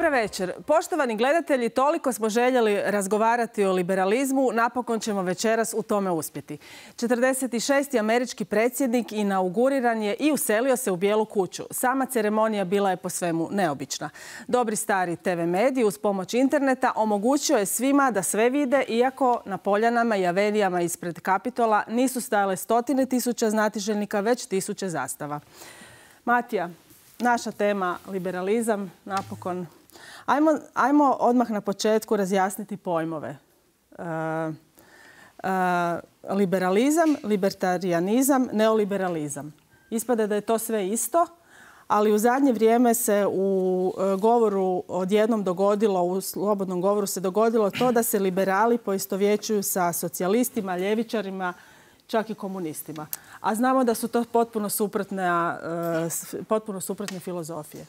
Dobra večer. Poštovani gledatelji, toliko smo željeli razgovarati o liberalizmu, napokon ćemo večeras u tome uspjeti. 46. američki predsjednik inauguriran je i uselio se u Bijelu kuću. Sama ceremonija bila je po svemu neobična. Dobri stari TV mediji uz pomoć interneta omogućio je svima da sve vide, iako na poljanama i avenijama ispred Kapitola nisu stajale stotine tisuća znatiželjnika, već tisuće zastava. Matija, naša tema liberalizam, napokon. Ajmo odmah na početku razjasniti pojmove. Liberalizam, libertarijanizam, neoliberalizam. Ispada da je to sve isto, ali u zadnje vrijeme se u govoru odjednom dogodilo, u slobodnom govoru se dogodilo to da se liberali poistovjećuju sa socijalistima, ljevičarima, čak i komunistima. A znamo da su to potpuno suprotne filozofije.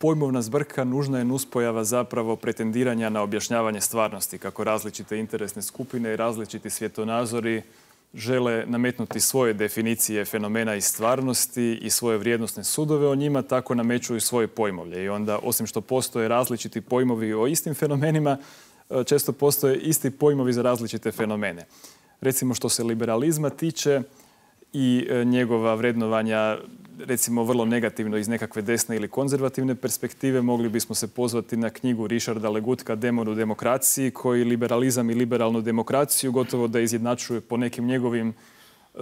Pojmovna zbrka nužna je nuspojava zapravo pretendiranja na objašnjavanje stvarnosti, kako različite interesne skupine i različiti svjetonazori žele nametnuti svoje definicije fenomena i stvarnosti i svoje vrijednosne sudove o njima, tako nameću i svoje pojmovlje. I onda, osim što postoje različiti pojmovi o istim fenomenima, često postoje isti pojmovi za različite fenomene. Recimo što se liberalizma tiče i njegova vrednovanja, recimo vrlo negativno iz nekakve desne ili konzervativne perspektive, mogli bismo se pozvati na knjigu Richarda Legutka Demon u demokraciji, koji liberalizam i liberalnu demokraciju gotovo da izjednačuje po nekim njegovim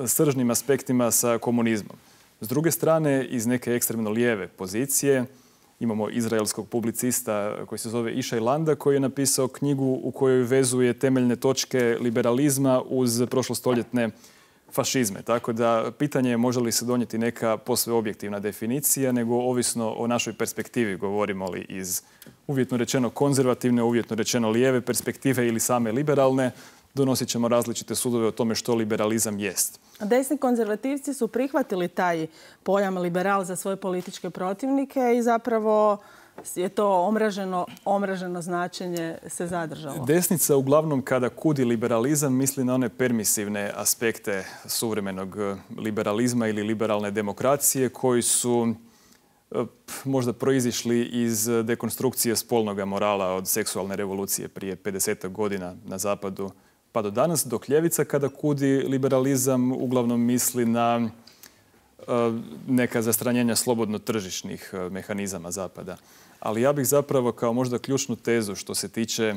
sržnim aspektima sa komunizmom. S druge strane, iz neke ekstremno lijeve pozicije imamo izraelskog publicista koji se zove Ishai Landa, koji je napisao knjigu u kojoj vezuje temeljne točke liberalizma uz prošlostoljetne fašizme. Tako da pitanje je može li se donijeti neka posve objektivna definicija, nego ovisno o našoj perspektivi, govorimo li iz uvjetno rečeno konzervativne, uvjetno rečeno lijeve perspektive ili same liberalne, donosit ćemo različite sudove o tome što liberalizam jest. Desni konzervativci su prihvatili taj pojam liberal za svoje političke protivnike i zapravo je to omraženo značenje se zadržalo. Desnica uglavnom kada kudi liberalizam misli na one permisivne aspekte suvremenog liberalizma ili liberalne demokracije koji su možda proizišli iz dekonstrukcije spolnog morala od seksualne revolucije prije 50 godina na zapadu pa do danas, dok ljevica kada kudi liberalizam uglavnom misli na neka zastranjenja slobodno tržišnih mehanizama zapada. Ali ja bih zapravo kao možda ključnu tezu što se tiče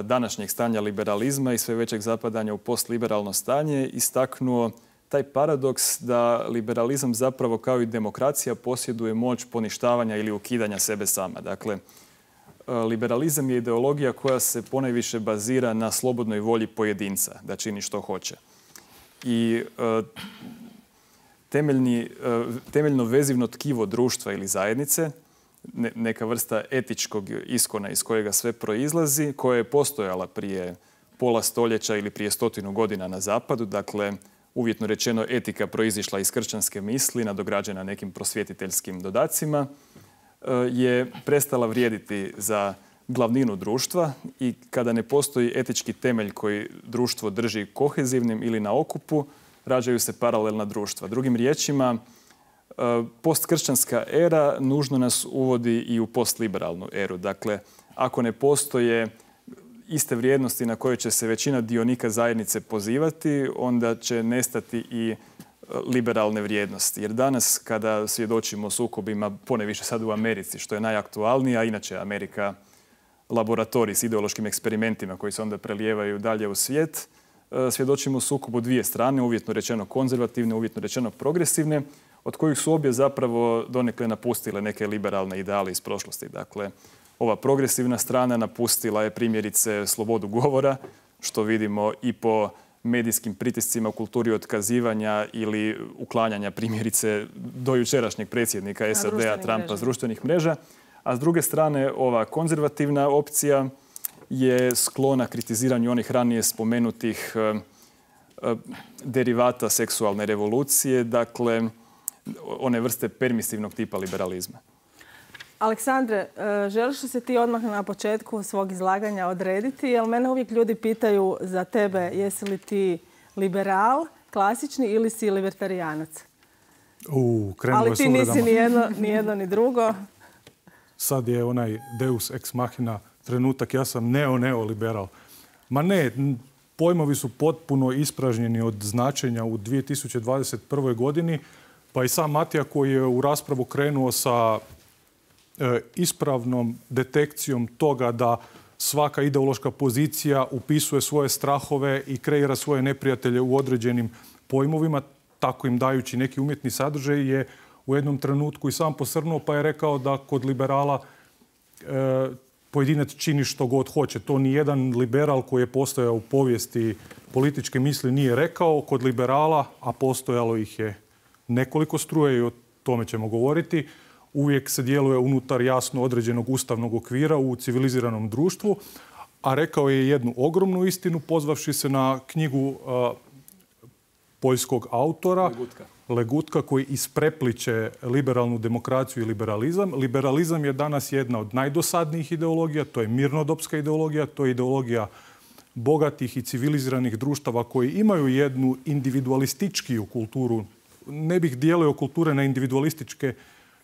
današnjeg stanja liberalizma i sve većeg zapadanja u postliberalno stanje istaknuo taj paradoks da liberalizam zapravo kao i demokracija posjeduje moć poništavanja ili ukidanja sebe sama. Dakle, liberalizam je ideologija koja se ponajviše bazira na slobodnoj volji pojedinca da čini što hoće. I temeljno vezivno tkivo društva ili zajednice, neka vrsta etičkog iskona iz kojega sve proizlazi, koja je postojala prije pola stoljeća ili prije 100 godina na zapadu. Dakle, uvjetno rečeno etika proizišla iz kršćanske misli, nadograđena nekim prosvjetiteljskim dodacima, je prestala vrijediti za glavninu društva i kada ne postoji etički temelj koji društvo drži kohezivnim ili na okupu, rađaju se paralelna društva. Drugim riječima, postkršćanska era nužno nas uvodi i u postliberalnu eru. Dakle, ako ne postoje iste vrijednosti na koje će se većina dionika zajednice pozivati, onda će nestati i liberalne vrijednosti. Jer danas kada svjedočimo sukobima, poneviše sad u Americi, što je najaktualnije, a inače Amerika laboratorij s ideološkim eksperimentima koji se onda prelijevaju dalje u svijet, svjedočimo sukobu dvije strane, uvjetno rečeno konzervativne, uvjetno rečeno progresivne, od kojih su obje zapravo donekle napustile neke liberalne ideale iz prošlosti. Dakle, ova progresivna strana napustila je primjerice slobodu govora, što vidimo i po medijskim pritiscima u kulturi otkazivanja ili uklanjanja primjerice do jučerašnjeg predsjednika SAD-a Trumpa s društvenih mreža. A s druge strane, ova konzervativna opcija je sklona kritiziranju onih ranije spomenutih derivata seksualne revolucije, dakle one vrste permisivnog tipa liberalizma. Aleksandre, želiš li se ti odmah na početku svog izlaganja odrediti? Jer mene uvijek ljudi pitaju za tebe jesi li ti liberal, klasični ili si libertarijanac? Ali ti nisi ni jedno ni drugo. sad je onaj deus ex machina trenutak, ja sam neoliberal. Ma ne, pojmovi su potpuno ispražnjeni od značenja u 2021. godini, pa i sam Matija koji je u raspravu krenuo sa ispravnom detekcijom toga da svaka ideološka pozicija upisuje svoje strahove i kreira svoje neprijatelje u određenim pojmovima, tako im dajući neki umjetni sadržaj, je u jednom trenutku i sam posrnuo pa je rekao da kod liberala pojedinac čini što god hoće. To ni jedan liberal koji je postojao u povijesti političke misli nije rekao. Kod liberala, a postojalo ih je nekoliko struje i o tome ćemo govoriti, uvijek se djeluje unutar jasno određenog ustavnog okvira u civiliziranom društvu, a rekao je jednu ogromnu istinu pozvavši se na knjigu poljskog autora Legutka koji isprepliče liberalnu demokraciju i liberalizam. Liberalizam je danas jedna od najdosadnijih ideologija, to je mirnodopska ideologija, to je ideologija bogatih i civiliziranih društava koji imaju jednu individualističkiju kulturu. Ne bih dijelio kulture na individualističke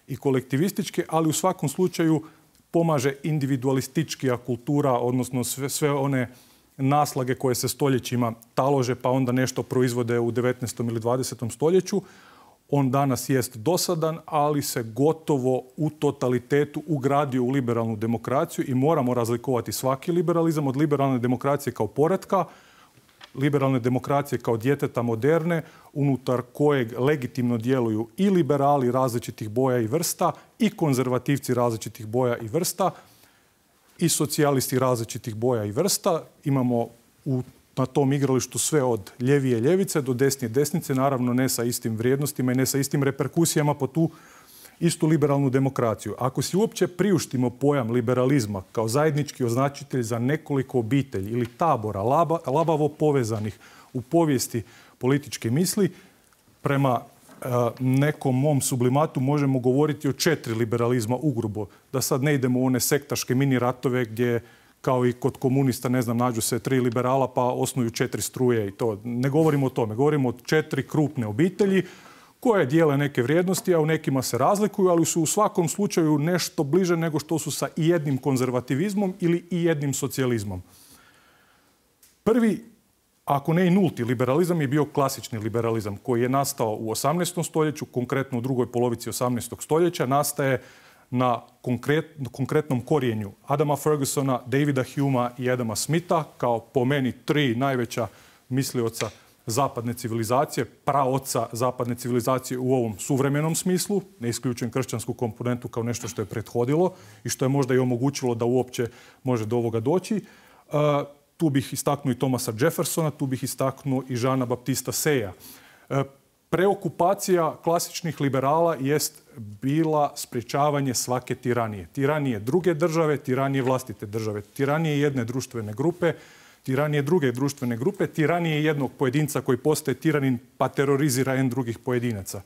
i kolektivističke, ali u svakom slučaju pomaže individualističkija kultura, odnosno sve one naslage koje se stoljećima talože pa onda nešto proizvode u 19. ili 20. stoljeću. On danas jest dosadan, ali se gotovo u totalitetu ugradio u liberalnu demokraciju i moramo razlikovati svaki liberalizam od liberalne demokracije kao poretka, liberalne demokracije kao djeteta moderne, unutar kojeg legitimno djeluju i liberali različitih boja i vrsta i konzervativci različitih boja i vrsta i socijalisti različitih boja i vrsta. Imamo na tom igralištu sve od ljevije ljevice do desnije desnice, naravno ne sa istim vrijednostima i ne sa istim reperkusijama po tu istu liberalnu demokraciju. Ako si uopće priuštimo pojam liberalizma kao zajednički označitelj za nekoliko obitelji ili tabora labavo povezanih u povijesti političke misli, prema nekom mom sublimatu možemo govoriti o 4 liberalizma ugrubo. Da sad ne idemo u one sektaške mini ratove gdje kao i kod komunista, ne znam, nađu se 3 liberala pa osnuju 4 struje i to. Ne govorimo o tome. Govorimo o 4 krupne obitelji koje dijele neke vrijednosti, a u nekima se razlikuju, ali su u svakom slučaju nešto bliže nego što su sa i jednim konzervativizmom ili i jednim socijalizmom. Prvi, ako ne i nulti liberalizam, je bio klasični liberalizam koji je nastao u 18. stoljeću, konkretno u drugoj polovici 18. stoljeća, nastaje na konkretnom korijenju Adama Fergusona, Davida Humea i Adama Smitha kao po meni 3 najveća mislioca zapadne civilizacije, praoca zapadne civilizacije u ovom suvremenom smislu, ne isključujem kršćansku komponentu kao nešto što je prethodilo i što je možda i omogućilo da uopće može do ovoga doći. Tu bih istaknuo i Thomasa Jeffersona, tu bih istaknuo i Jeana Baptista Seya. Preokupacija klasičnih liberala jest bila sprječavanje svake tiranije. Tiranije druge države, tiranije vlastite države, tiranije jedne društvene grupe, tiranije druge društvene grupe, tiranije jednog pojedinca koji postaje tiranin pa terorizira jedan drugih pojedinaca.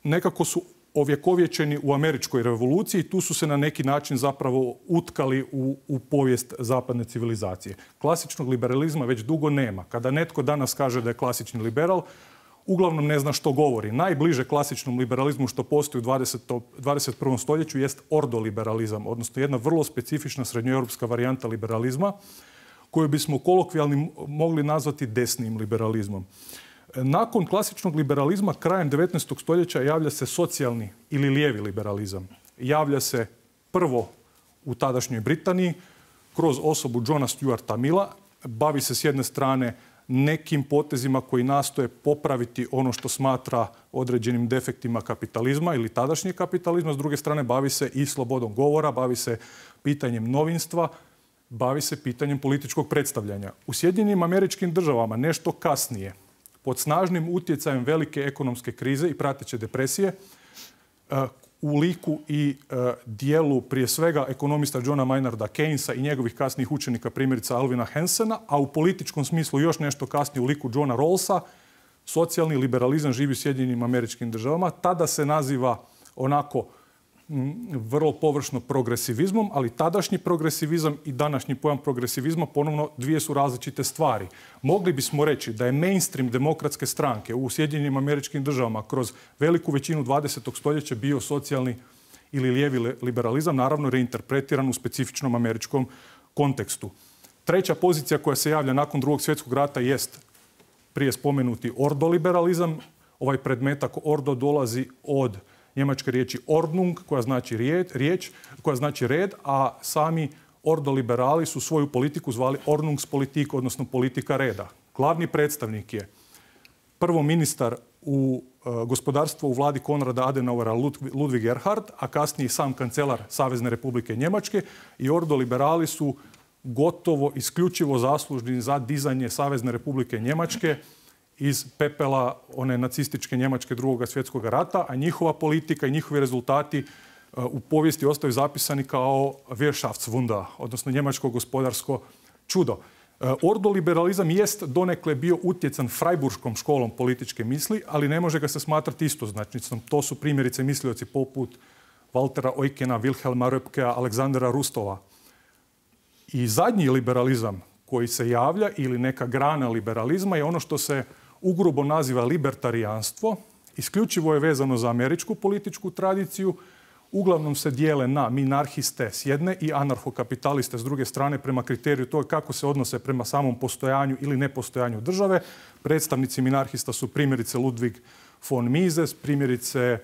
Nekako su ovjekovječeni u američkoj revoluciji, tu su se na neki način zapravo utkali u povijest zapadne civilizacije. Klasičnog liberalizma već dugo nema. Kada netko danas kaže da je klasični liberal, uglavnom ne zna što govori. Najbliže klasičnom liberalizmu što postoji u 21. stoljeću jest ordoliberalizam, odnosno jedna vrlo specifična srednjoeuropska varijanta liberalizma koju bismo kolokvijalno mogli nazvati desnim liberalizmom. Nakon klasičnog liberalizma krajem 19. stoljeća javlja se socijalni ili lijevi liberalizam. Javlja se prvo u tadašnjoj Britaniji kroz osobu Johna Stuarta Milla. Bavi se s jedne strane nekim potezima koji nastoje popraviti ono što smatra određenim defektima kapitalizma ili tadašnjeg kapitalizma. S druge strane bavi se i slobodom govora, bavi se pitanjem novinstva, bavi se pitanjem političkog predstavljanja. U Sjedinjenim Američkim Državama nešto kasnije, pod snažnim utjecajem velike ekonomske krize i prateće depresije, u liku i dijelu prije svega ekonomista Johna Maynarda Keynesa i njegovih kasnijih učenika, primjerice Alvina Hansena, a u političkom smislu još nešto kasnije u liku Johna Rawlsa, socijalni liberalizam živi u Sjedinjenim Američkim Državama. Tada se naziva onako vrlo površno progresivizmom, ali tadašnji progresivizam i današnji pojam progresivizma ponovno dvije su različite stvari. Mogli bismo reći da je mainstream demokratske stranke u Sjedinjenim Američkim Državama kroz veliku većinu 20. stoljeća bio socijalni ili lijevi liberalizam, naravno reinterpretiran u specifičnom američkom kontekstu. Treća pozicija koja se javlja nakon Drugog svjetskog rata jest prije spomenuti ordoliberalizam. Ovaj predmetak ordo dolazi od njemačke riječi Ordnung, koja znači koja znači red, a sami ordoliberali su svoju politiku zvali Ordnungspolitik, odnosno politika reda. Glavni predstavnik je prvo ministar u gospodarstvu u vladi Konrada Adenauera Ludwig Erhard, a kasnije sam kancelar Savezne republike Njemačke, i ordoliberali su gotovo isključivo zaslužni za dizanje Savezne republike Njemačke iz pepela one nacističke Njemačke Drugog svjetskog rata, a njihova politika i njihovi rezultati u povijesti ostaju zapisani kao Wirtschaftswunder, odnosno njemačko gospodarsko čudo. Ordoliberalizam jest donekle bio utjecan Freiburškom školom političke misli, ali ne može ga se smatrati istoznačnicom. To su primjerice mislioci poput Waltera Eukena, Wilhelma Röpkea, Aleksandra Rustova. I zadnji liberalizam koji se javlja, ili neka grana liberalizma, je ono što se ugrubo naziva libertarijanstvo. Isključivo je vezano za američku političku tradiciju. Uglavnom se dijele na minarhiste s jedne i anarhokapitaliste s druge strane prema kriteriju toga kako se odnose prema samom postojanju ili nepostojanju države. Predstavnici minarhista su primjerice Ludwig von Mises, primjerice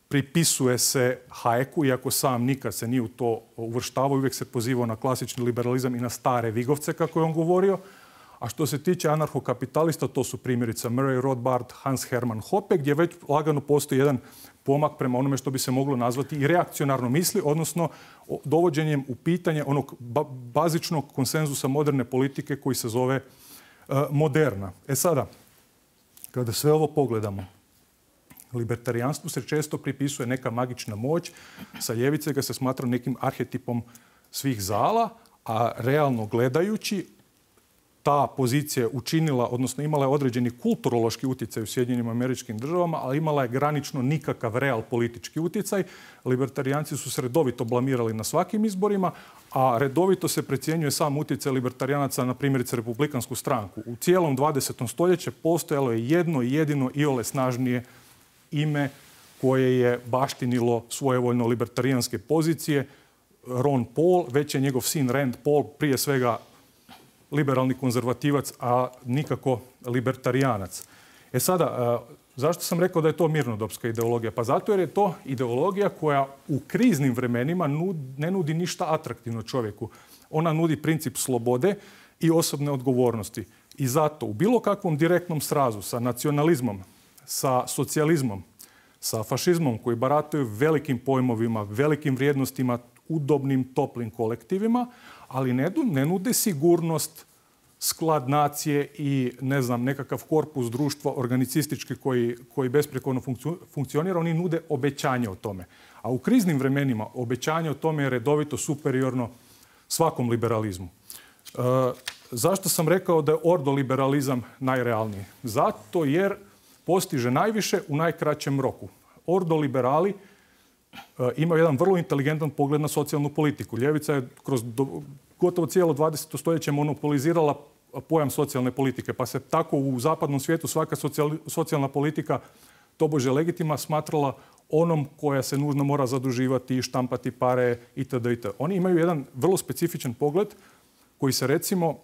pripisuje se Hayeku, iako sam nikad se nije u to uvrštavao, uvijek se pozivao na klasični liberalizam i na stare vigovce, kako je on govorio. A što se tiče anarhokapitalista, to su primjerice Murray Rothbard, Hans Hermann Hoppe, gdje već lagano postoji jedan pomak prema onome što bi se moglo nazvati i reakcionarno misli, odnosno dovođenjem u pitanje onog bazičnog konsenzusa moderne politike koji se zove moderna. Sada, kada sve ovo pogledamo, libertarijanstvu se često pripisuje neka magična moć, sa ljevice ga se smatra nekim arhetipom svih zala, a realno gledajući ta pozicija je učinila, odnosno imala je određeni kulturološki utjecaj u Sjedinjenim Američkim Državama, ali imala je granično nikakav real politički utjecaj. Libertarijanci su se redovito blamirali na svakim izborima, a redovito se precjenjuje sam utjecaj libertarijanaca na primjerice Republikansku stranku. U cijelom 20. stoljeću postojalo je jedno jedino iole snažnije ime koje je baštinilo svojevoljno libertarijanske pozicije, Ron Paul, već je njegov sin Rand Paul prije svega liberalni konzervativac, a nikako libertarijanac. Sada, zašto sam rekao da je to mirnodopska ideologija? Pa zato jer je to ideologija koja u kriznim vremenima ne nudi ništa atraktivno čovjeku. Ona nudi princip slobode i osobne odgovornosti. I zato u bilo kakvom direktnom srazu sa nacionalizmom, sa socijalizmom, sa fašizmom koji barataju velikim pojmovima, velikim vrijednostima, udobnim, toplim kolektivima, ali ne nude sigurnost, sklad nacije i nekakav korpus društva organicistički koji besprijekorno funkcionira. Oni nude obećanje o tome. A u kriznim vremenima obećanje o tome je redovito superiorno svakom liberalizmu. Zašto sam rekao da je ordoliberalizam najrealniji? Zato jer postiže najviše u najkraćem roku. Ordoliberali imaju jedan vrlo inteligentan pogled na socijalnu politiku. Ljevica je kroz gotovo cijelo 20. stoljeće monopolizirala pojam socijalne politike, pa se tako u zapadnom svijetu svaka socijalna politika tobože legitimna smatrala onom koja se nužno mora zaduživati, štampati pare itd. Oni imaju jedan vrlo specifičan pogled koji se recimo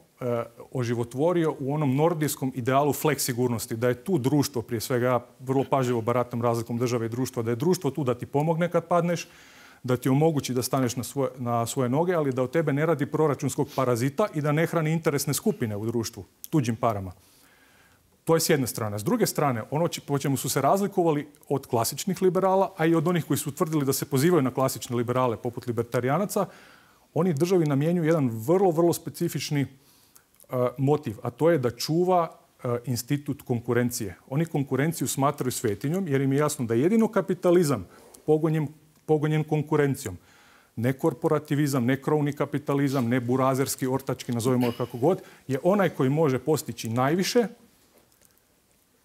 oživotvorio u onom nordijskom idealu fleksigurnosti, da je tu društvo, prije svega ja vrlo pažljivo baratam razlikom države i društva, da je društvo tu da ti pomogne kad padneš, da ti omogući da staneš na svoje noge, ali da od tebe ne radi proračunskog parazita i da ne hrani interesne skupine u društvu tuđim parama. To je s jedne strane. S druge strane, ono po čemu su se razlikovali od klasičnih liberala, a i od onih koji su tvrdili da se pozivaju na klasične liberale poput libertarijanaca, oni državi namjenjuju jedan vrlo, vrlo specifični motiv, a to je da čuva institut konkurencije. Oni konkurenciju smatraju svetinjom jer im je jasno da jedino kapitalizam pogonjen konkurencijom, ne korporativizam, ne krovni kapitalizam, ne burazerski, ortački, nazovimo kako god, je onaj koji može postići najviše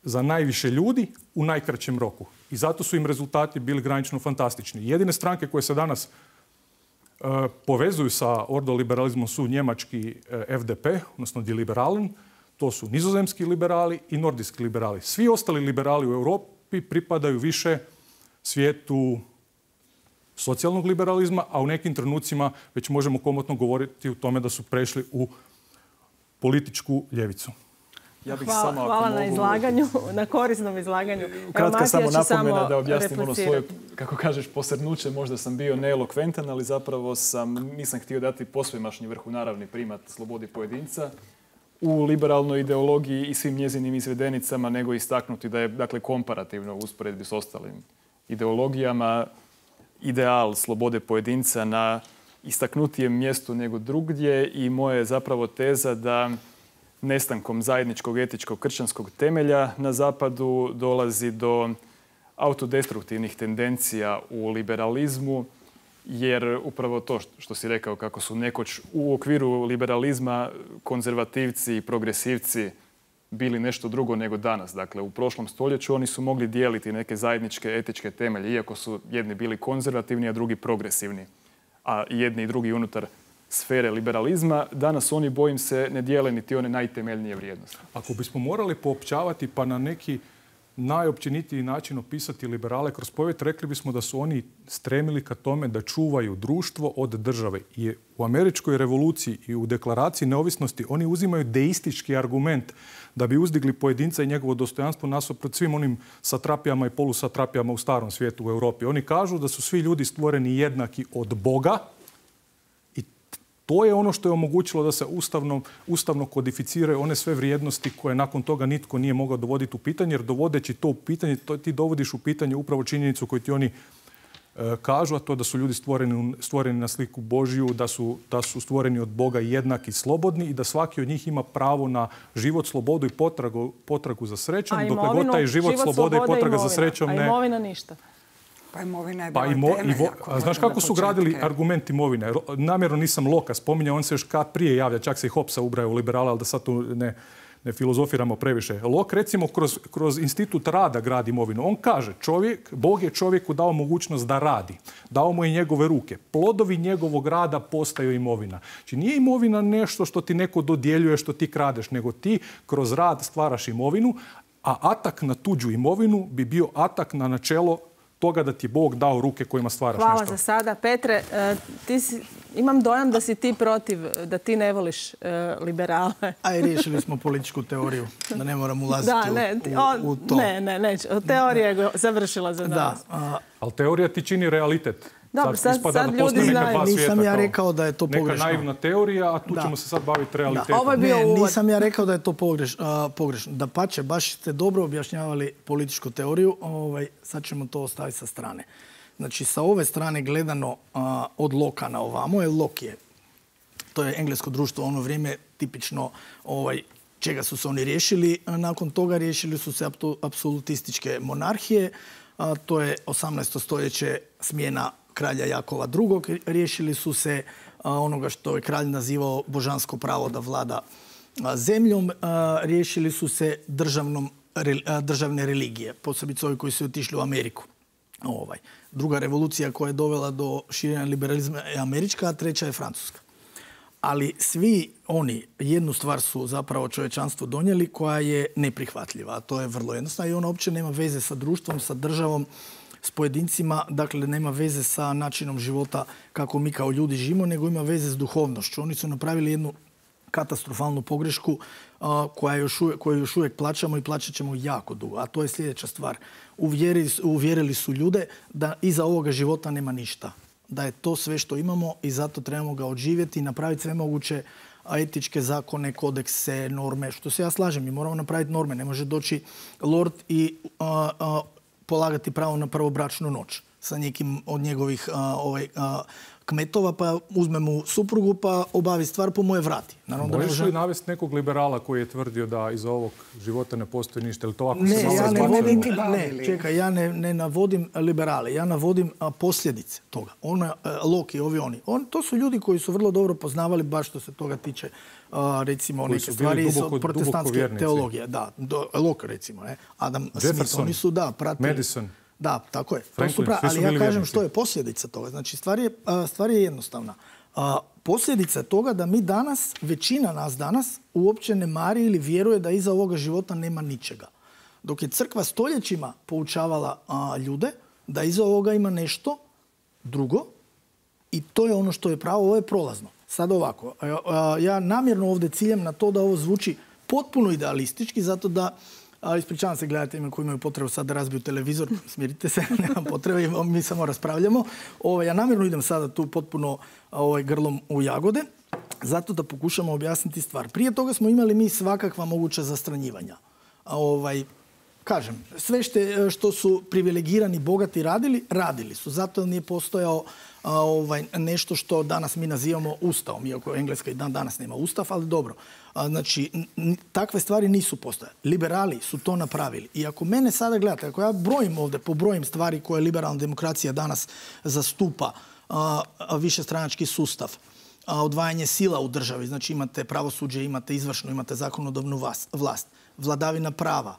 za najviše ljudi u najkraćem roku. I zato su im rezultati bili granično fantastični. Jedine stranke koje se danas povezuju sa ordoliberalizmom su njemački FDP, odnosno Die Liberalen, to su nizozemski liberali i nordijski liberali. Svi ostali liberali u Europi pripadaju više svijetu socijalnog liberalizma, a u nekim trenucima već možemo komotno govoriti o tome da su prešli u političku ljevicu. Ja bih Hvala na izlaganju, na korisnom izlaganju. Kratka samo napomena da objasnim ono svoje, kako kažeš, posrnuće. Možda sam bio neelokventan, ali zapravo nisam htio dati posvemašnji vrhunaravni primat slobodi pojedinca u liberalnoj ideologiji i svim njezinim izvedenicama, nego istaknuti da je, dakle, komparativno u usporedbi s ostalim ideologijama ideal slobode pojedinca na istaknutijem mjestu nego drugdje i moja je zapravo teza da nestankom zajedničkog etičkog kršćanskog temelja na zapadu dolazi do autodestruktivnih tendencija u liberalizmu, jer upravo to što si rekao, kako su nekoć u okviru liberalizma konzervativci i progresivci bili nešto drugo nego danas. Dakle, u prošlom stoljeću oni su mogli dijeliti neke zajedničke etičke temelje, iako su jedni bili konzervativni, a drugi progresivni, a jedni i drugi unutar sfere liberalizma. Danas oni, bojim se, ne dijele niti one najtemeljnije vrijednosti. Ako bismo morali poopćavati pa na neki najopćenitiji način opisati liberale kroz povijest, rekli bismo da su oni stremili ka tome da čuvaju društvo od države. I u američkoj revoluciji i u deklaraciji neovisnosti oni uzimaju deistički argument da bi uzdigli pojedinca i njegovo dostojanstvo nasuprot svim onim satrapijama i polusatrapijama u starom svijetu u Europi. Oni kažu da su svi ljudi stvoreni jednaki od Boga. To je ono što je omogućilo da se ustavno kodificiraju one sve vrijednosti koje nakon toga nitko nije mogao dovoditi u pitanje, jer dovodeći to u pitanje, ti dovodiš u pitanje upravo činjenicu koju ti oni kažu, a to da su ljudi stvoreni na sliku Božju, da su stvoreni od Boga jednaki i slobodni i da svaki od njih ima pravo na život, slobodu i potragu za srećom. A imovinu, dokle god taj život, sloboda i potraga za srećom ne... A imovina ništa. Pa imovina je bila temelja. Znaš kako su gradili argument imovine? Namjerno nisam Loka spominjao, on se još kad prije javlja, čak se i Hobbesa ubraja u liberala, ali da sad tu ne filozofiramo previše. Lok, recimo, kroz institut rada gradi imovinu. On kaže, Bog je čovjeku dao mogućnost da radi. Dao mu i njegove ruke. Plodovi njegovog rada postaju imovina. Znači nije imovina nešto što ti neko dodjeljuje, što ti kradeš, nego ti kroz rad stvaraš imovinu, a atak na tuđu imovinu bi bio atak na načelo toga da ti je Bog dao ruke kojima stvaraš nešto. Hvala za sada. Petre, imam dojam da si ti protiv, da ti ne voliš liberale. Aj, riješili smo političku teoriju, da ne moram ulaziti u to. Ne, teorija je završila za nas. Ali teorija ti čini realitet. Dobro, sad ljudi znaju. Nisam ja rekao da je to pogrešno. Neka naivna teorija, a tu ćemo se sad baviti realitetom. Ovo je bio uvod. Nisam ja rekao da je to pogrešno. Dapače, baš ste dobro objašnjavali političku teoriju. Sad ćemo to ostaviti sa strane. Znači, sa ove strane gledano od Loka na ovamo, jer Lok je, to je englesko društvo, ono vrijeme tipično čega su se oni riješili. Nakon toga riješili su se apsolutističke monarhije. To je 18. stoljeće smjena kralja Jakova II. Riješili su se onoga što je kralj nazivao božansko pravo da vlada zemljom. Riješili su se državne religije, posebice ovi koji su otišli u Ameriku. Druga revolucija koja je dovela do širenja liberalizma je američka, a treća je francuska. Ali svi oni jednu stvar su zapravo čovječanstvu donijeli koja je neprihvatljiva. A to je vrlo jednostavno i ona uopće nema veze sa društvom, sa državom, s pojedincima. Dakle, nema veze sa načinom života kako mi kao ljudi živimo, nego ima veze s duhovnošću. Oni su napravili jednu katastrofalnu pogrešku koju još uvijek plaćamo i plaćat ćemo jako dugo. A to je sljedeća stvar. Uvjerili su ljude da iza ovoga života nema ništa. Da je to sve što imamo i zato trebamo ga odživjeti i napraviti sve moguće etičke zakone, kodekse, norme. Što se ja slažem, mi moramo napraviti norme. Ne može doći lord i polagati pravo na prvobračnu noć sa nekim od njegovih kmetova, pa uzme mu suprugu, pa obavi stvar, po moje vrati. Možeš li navesti nekog liberala koji je tvrdio da iza ovog života ne postoji ništa? Ja ne navodim liberale, ja navodim posljedice toga. Lok i ovi oni. To su ljudi koji su vrlo dobro poznavali baš što se toga tiče recimo neke stvari iz protestantske teologije. Da, Lok recimo, Adam Smith, oni su pratili. Madison. Da, tako je. Ali ja kažem što je posljedica toga. Znači, stvar je jednostavna. Posljedica je toga da mi danas, većina nas danas, uopće ne mari ili vjeruje da iza ovoga života nema ničega. Dok je crkva stoljećima poučavala ljude da iza ovoga ima nešto Drugo, i to je ono što je pravo, ovo je prolazno. Sad ovako, ja namjerno ovdje ciljam na to da ovo zvuči potpuno idealistički, zato da, ispričavam se gledateljima koji imaju potrebu sad da razbiju televizor, smirite se, nemam potrebe, mi samo raspravljamo. Ja namjerno idem sada tu potpuno grlom u jagode, zato da pokušamo objasniti stvar. Prije toga smo imali mi svakakva moguća zastranjivanja. Kažem, sve što su privilegirani, bogati radili su. Zato nije postojao nešto što danas mi nazivamo ustavom, iako Engleska i dan danas nema ustav, ali dobro. Znači, takve stvari nisu postojale. Liberali su to napravili. I ako mene sada gledate, ako ja brojim ovdje, pobrojim stvari koje liberalna demokracija danas zastupa, višestranački sustav, odvajanje sila u državi, znači imate pravosuđe, imate izvršnu, imate zakonodavnu vlast, vladavina prava,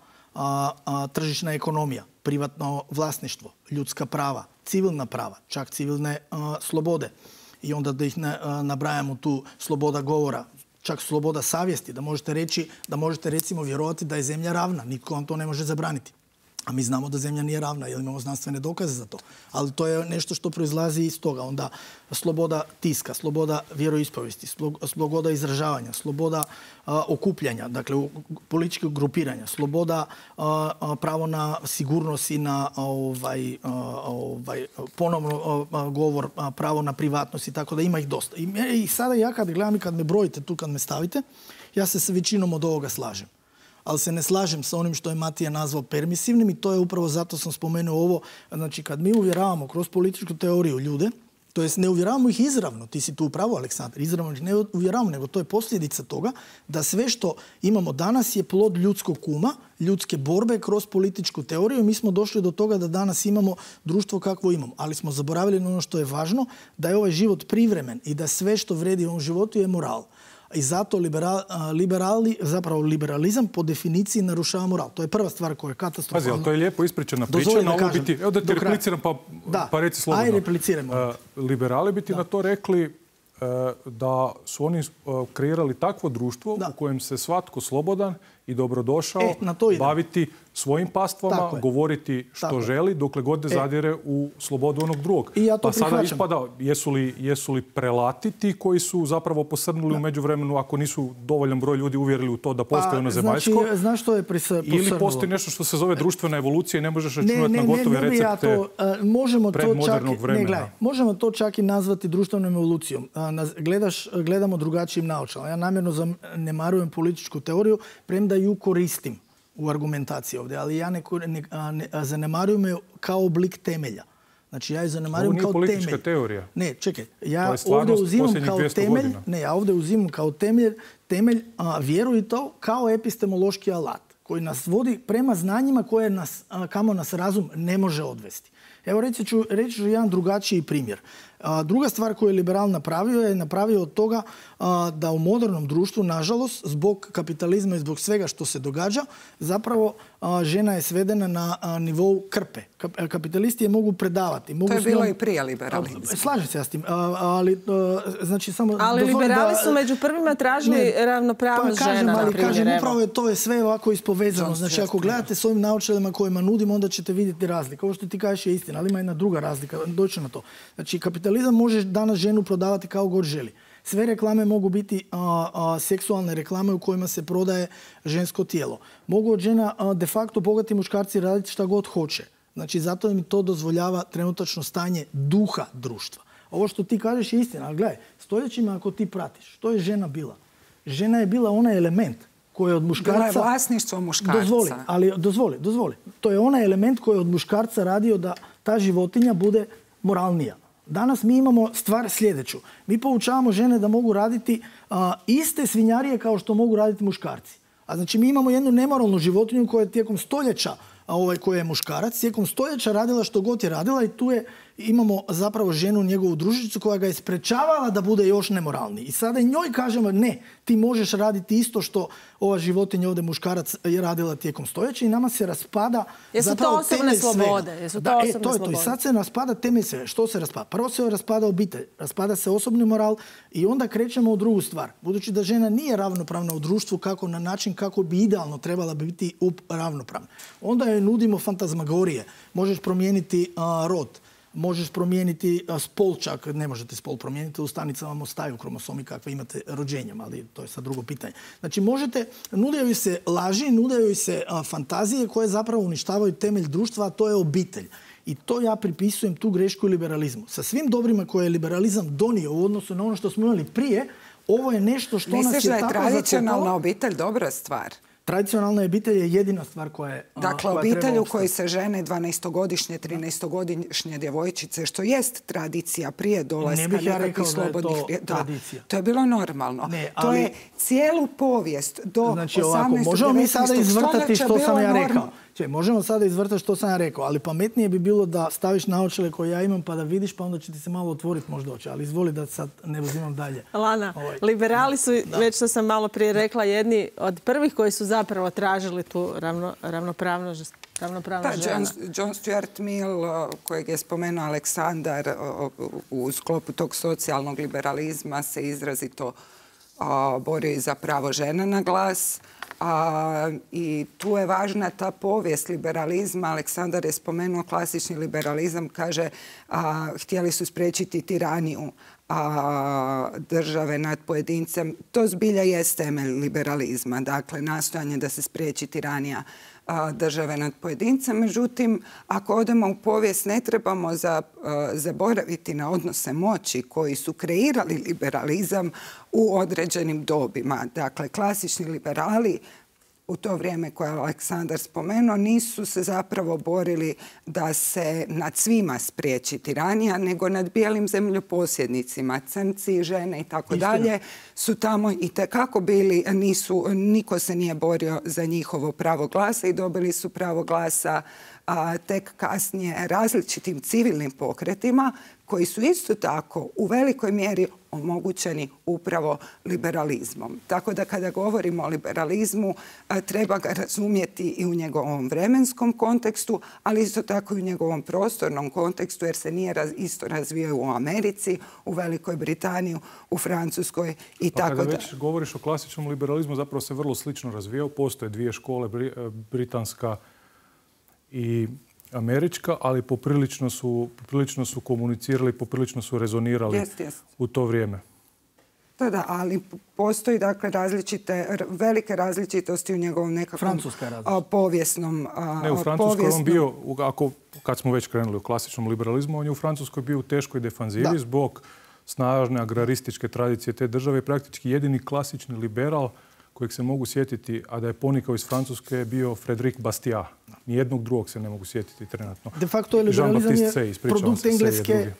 tržišna ekonomija, privatno vlasništvo, ljudska prava, civilna prava, čak civilne slobode. I onda da ih nabrajamo tu, sloboda govora, čak sloboda savjesti, da možete recimo vjerovati da je zemlja ravna. Nitko vam to ne može zabraniti. A mi znamo da zemlja nije ravna, jer imamo znanstvene dokaze za to. Ali to je nešto što proizlazi iz toga. Onda sloboda tiska, sloboda vjeroispovijesti, sloboda izražavanja, sloboda okupljanja, dakle političkog grupiranja, sloboda pravo na sigurnost i na ponovno govor, pravo na privatnost i tako da ima ih dosta. I sada ja kad gledam i kad me brojite tu, kad me stavite, ja se s većinom od ovoga slažem. Ali se ne slažem sa onim što je Matija nazvao permisivnim i to je upravo zato sam spomenuo ovo. Znači, kad mi uvjeravamo kroz političku teoriju ljude, to jest ne uvjeravamo ih izravno, ti si tu upravo, Aleksandar, izravno ih ne uvjeravamo, nego to je posljedica toga da sve što imamo danas je plod ljudskog uma, ljudske borbe kroz političku teoriju i mi smo došli do toga da danas imamo društvo kakvo imamo. Ali smo zaboravili na ono što je važno, da je ovaj život privremen i da sve što vredi u ovom životu je moral. I zato liberalizam po definiciji narušava moral. To je prva stvar koja je katastrofalna. Pazi, ali to je lijepo ispričana priča. Evo da ti repliciram pa reci slobodno. Ajde, replicirajmo. Liberali bi ti na to rekli da su oni kreirali takvo društvo u kojem se svatko slobodan i dobrodošao baviti svojim pastvama, govoriti što želi, dokle god ne zadire u slobodu onog drugog. Pa sada ispada, jesu li prelati ti koji su zapravo posrnuli u međuvremenu ako nisu dovoljan broj ljudi uvjerili u to da postoje ono zemaljsko? Znaš što je posrnulo? Ili postoji nešto što se zove društvena evolucija i ne možeš računati na gotove recepte predmodernog vremena? Možemo to čak i nazvati društvenom evolucijom. Gledamo drugačijim naočalama. Ja namjerno zanemarujem političku teoriju, premda ju koristim u argumentaciji ovdje, ali ja ne zanemarujem je kao oblik temelja. Znači ja je zanemarujem kao temelj. Ovo nije politička teorija. Ne, čekaj. Ja ovdje uzimam kao temelj, ja ovdje uzimam kao temelj vjeru i to kao epistemološki alat koji nas vodi prema znanjima kamo nas razum ne može odvesti. Evo reći ću jedan drugačiji primjer. Druga stvar koju je liberal napravio od toga da u modernom društvu, nažalost, zbog kapitalizma i zbog svega što se događa, zapravo žena je svedena na nivou krpe. Kapitalisti je mogu predavati. To je bilo i prije liberalizma. Slažem se ja s tim. Ali liberali su među prvima tražili ravnopravnost žena. Kažem, upravo to je sve ovako ispovezano. Znači, ako gledate s ovim naočalama kojima nudimo, onda ćete vidjeti razliku. Ovo što ti kažeš je istina, ali ima jedna druga razlika. Doći na to. Znači, kapitalizam može danas ženu prodavati kao god želi. Sve reklame mogu biti seksualne reklame u kojima se prodaje žensko tijelo. Mogu od žena de facto bogati muškarci raditi šta god hoće. Znači, zato mi to dozvoljava trenutačno stanje duha društva. Ovo što ti kažeš je istina, ali gledaj, stoljećima ako ti pratiš, što je žena bila? Žena je bila onaj element koji je od muškarca... Bila je vlasništvo muškarca. Dozvoli. To je onaj element koji je od muškarca radio da ta životinja bude moralnija. Danas mi imamo stvar sljedeću. Mi poučavamo žene da mogu raditi iste svinjarije kao što mogu raditi muškarci. A znači mi imamo jednu nemoralnu životinju koja je tijekom stoljeća, koja je muškarac, tijekom stoljeća radila što god je radila i tu imamo zapravo ženu, njegovu družicu koja ga je sprečavala da bude još nemoralniji. I sada njoj kažemo ne, ti možeš raditi isto što ova životinja ovdje muškarac je radila tijekom stoljeća i nama se raspada zapravo temelj svega. I sad se raspada temelj svega. Što se raspada? Prvo se raspada obitelj, raspada se osobni moral i onda krećemo u drugu stvar. Budući da žena nije ravnopravna u društvu kako na način kako bi idealno trebala biti ravnopravna. Onda joj nudimo fantazmagorije. Možeš promijeniti rod. možeš promijeniti spol čak, ne možete spol promijeniti, u stanicama vam ostaju kromosomi kakve imate rođenjem, ali to je sad drugo pitanje. Znači možete, nudaju se laži, nudaju se fantazije koje zapravo uništavaju temelj društva, a to je obitelj. I to ja pripisujem tu grešku liberalizmu. Sa svim dobrima koje je liberalizam donio u odnosu na ono što smo imali prije, ovo je nešto što nas je tako Misliš da je tradicionalna obitelj dobra stvar? Tradicionalna obitelj je jedina stvar koja je Dakle, obitelj u kojoj se žene 12-godišnje, 13-godišnje djevojčice, što jest tradicija prije dolaska nekakvih slobodnih... tradicija. To je bilo normalno. To je cijelu povijest do 18. Možemo mi sada izvrtati što sam ja rekao. normalno. Možemo sada izvrtati što sam ja rekao, ali pametnije bi bilo da staviš naočale koje ja imam pa da vidiš, pa onda će ti se malo otvoriti možda oči. Ali izvoli da sad ne uzimam dalje. Lana, liberali su, već što sam malo prije rekla, jedni od prvih koji su zapravo tražili tu ravnopravnost žena. John Stuart Mill, kojeg je spomenuo Aleksandar, u sklopu tog socijalnog liberalizma se izrazito borio i za pravo žena na glas. I tu je važna ta povijest liberalizma. Aleksandar je spomenuo klasični liberalizam, kaže htjeli su spriječiti tiraniju države nad pojedincem. To zbilja jest temelj liberalizma, dakle nastojanje da se spriječi tiranija države nad pojedincem. Međutim, ako odemo u povijest, ne trebamo zaboraviti na odnose moći koji su kreirali liberalizam u određenim dobima. Dakle, klasični liberali u to vrijeme koje je Aleksandar spomenuo nisu se zapravo borili da se nad svima spriječi tiranija, nego nad bijelim zemljoposjednicima, crnci, žene i tako dalje su tamo i tekako bili, niko se nije borio za njihovo pravo glasa i dobili su pravo glasa tek kasnije različitim civilnim pokretima koji su isto tako u velikoj mjeri omogućeni upravo liberalizmom. Tako da kada govorimo o liberalizmu treba ga razumjeti i u njegovom vremenskom kontekstu, ali isto tako i u njegovom prostornom kontekstu jer se nije isto razvijao u Americi, u Velikoj Britaniji, u Francuskoj i tako da. Kada već govoriš o klasičnom liberalizmu, zapravo se vrlo slično razvijao. Postoje dvije škole, britanska i američka, ali poprilično su komunicirali, poprilično su rezonirali u to vrijeme. Da, ali postoji dakle velike različitosti u njegovom nekakvom povijesnom... Ne, u Francuskoj on bio, kad smo već krenuli u klasičnom liberalizmu, on je u Francuskoj bio u teškoj defanzivi zbog snažne agrarističke tradicije te države i praktički jedini klasični liberal kojeg se mogu sjetiti, a da je ponikao iz Francuske, je bio Frédéric Bastiat. Nijednog drugog se ne mogu sjetiti trenutno. De facto je liberalizam je produkt engleske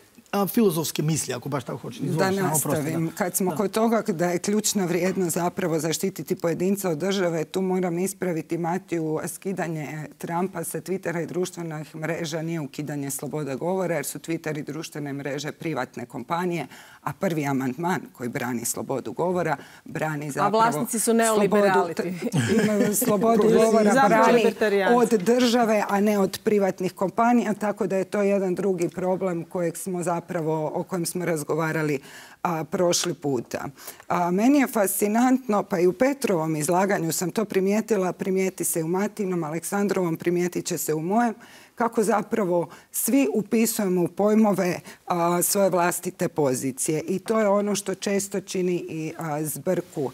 filozofske misli, ako baš tako hoćete. Da nastavim. Kad smo kod toga da je ključna vrijednost zapravo zaštititi pojedinca od države, tu moram ispraviti Matiju, skidanje Trumpa sa Twittera i društvenih mreža nije ukidanje slobode govora, jer su Twitter i društvene mreže privatne kompanije, a prvi amandman koji brani slobodu govora brani zapravo... A vlasnici su neoliberali. Slobodu govora brani od države, a ne od privatnih kompanija, tako da je to jedan drugi problem o kojem smo razgovarali prošli puta. Meni je fascinantno, pa i u Petrovom izlaganju sam to primijetila, primijeti se u Matinom, Aleksandrovom primijetit će se u mojem, kako zapravo svi upisujemo u pojmove svoje vlastite pozicije. I to je ono što često čini i zbrku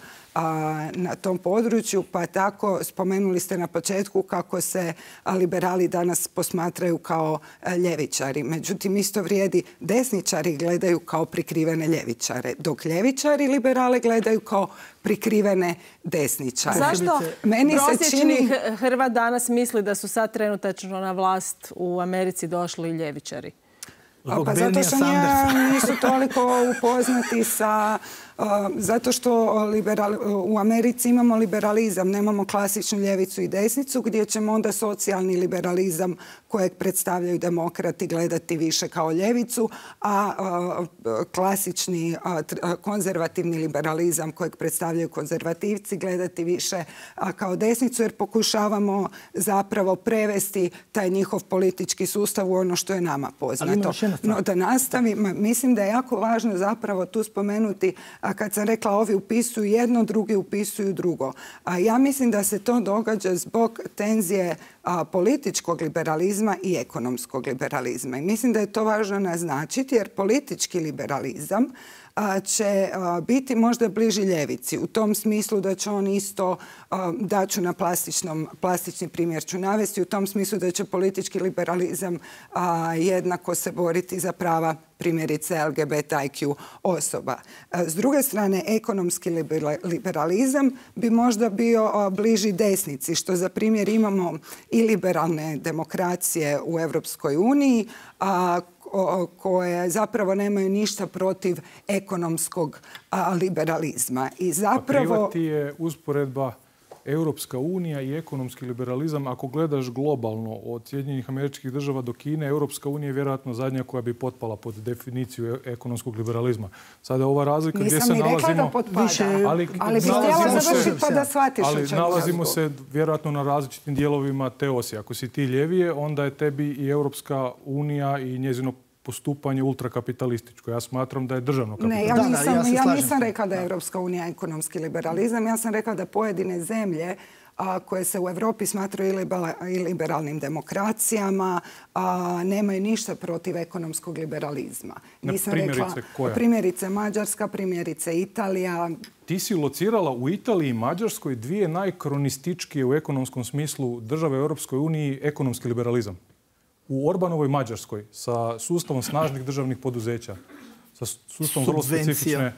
na tom području, pa tako spomenuli ste na početku kako se liberali danas posmatraju kao ljevičari. Međutim, isto vrijedi, desničari gledaju kao prikrivene ljevičare, dok ljevičari liberale gledaju kao prikrivene desničare. Zašto prosječni Hrvat danas misli da su sad trenutačno na vlast u Americi došli ljevičari? Pa zato što nisu toliko upoznati sa... Zato što u Americi imamo liberalizam, nemamo klasičnu ljevicu i desnicu, gdje ćemo onda socijalni liberalizam kojeg predstavljaju demokrati gledati više kao ljevicu, a klasični konzervativni liberalizam kojeg predstavljaju konzervativci gledati više kao desnicu, jer pokušavamo zapravo prevesti taj njihov politički sustav u ono što je nama poznato. No, da nastavim, mislim da je jako važno zapravo tu spomenuti A kad sam rekla ovi upisuju jedno, drugi upisuju drugo. A ja mislim da se to događa zbog tenzije političkog liberalizma i ekonomskog liberalizma. I mislim da je to važno naznačiti jer politički liberalizam će biti možda bliži ljevici. U tom smislu da će on isto, daću na plastični primjer ću navesti, u tom smislu da će politički liberalizam jednako se boriti za prava primjerice LGBTIQ osoba. S druge strane, ekonomski liberalizam bi možda bio bliži desnici, što za primjer imamo i liberalne demokracije u Europskoj uniji, koje zapravo nemaju ništa protiv ekonomskog liberalizma. I zapravo... Privati je usporedba Europska unija i ekonomski liberalizam. Ako gledaš globalno od Sjedinjenih Američkih Država do Kine, Europska unija je vjerojatno zadnja koja bi potpala pod definiciju ekonomskog liberalizma. Sada ova razlika gdje se nalazimo... Nisam ni rekla da potpada, ali bi htjela završiti pa da shvatiš o čemu ali nalazimo se vjerojatno na različitim dijelovima te osi. Ako si ti ljevije, onda je tebi i Europska unija i njezino postupanje ultrakapitalističko. Ja smatram da je državno kapitalističko. Ne, ja nisam rekla da je Europska unija ekonomski liberalizam. Ja sam rekla da pojedine zemlje koje se u Europi smatraju i liberalnim demokracijama nemaju ništa protiv ekonomskog liberalizma. Nisam rekla primjerice Mađarska, primjerice Italija. Ti si locirala u Italiji i Mađarskoj dvije najkronističkije u ekonomskom smislu države u Europskoj uniji ekonomski liberalizam. U Orbanovoj Mađarskoj sa sustavom snažnih državnih poduzeća, sa sustavom vrlo specifične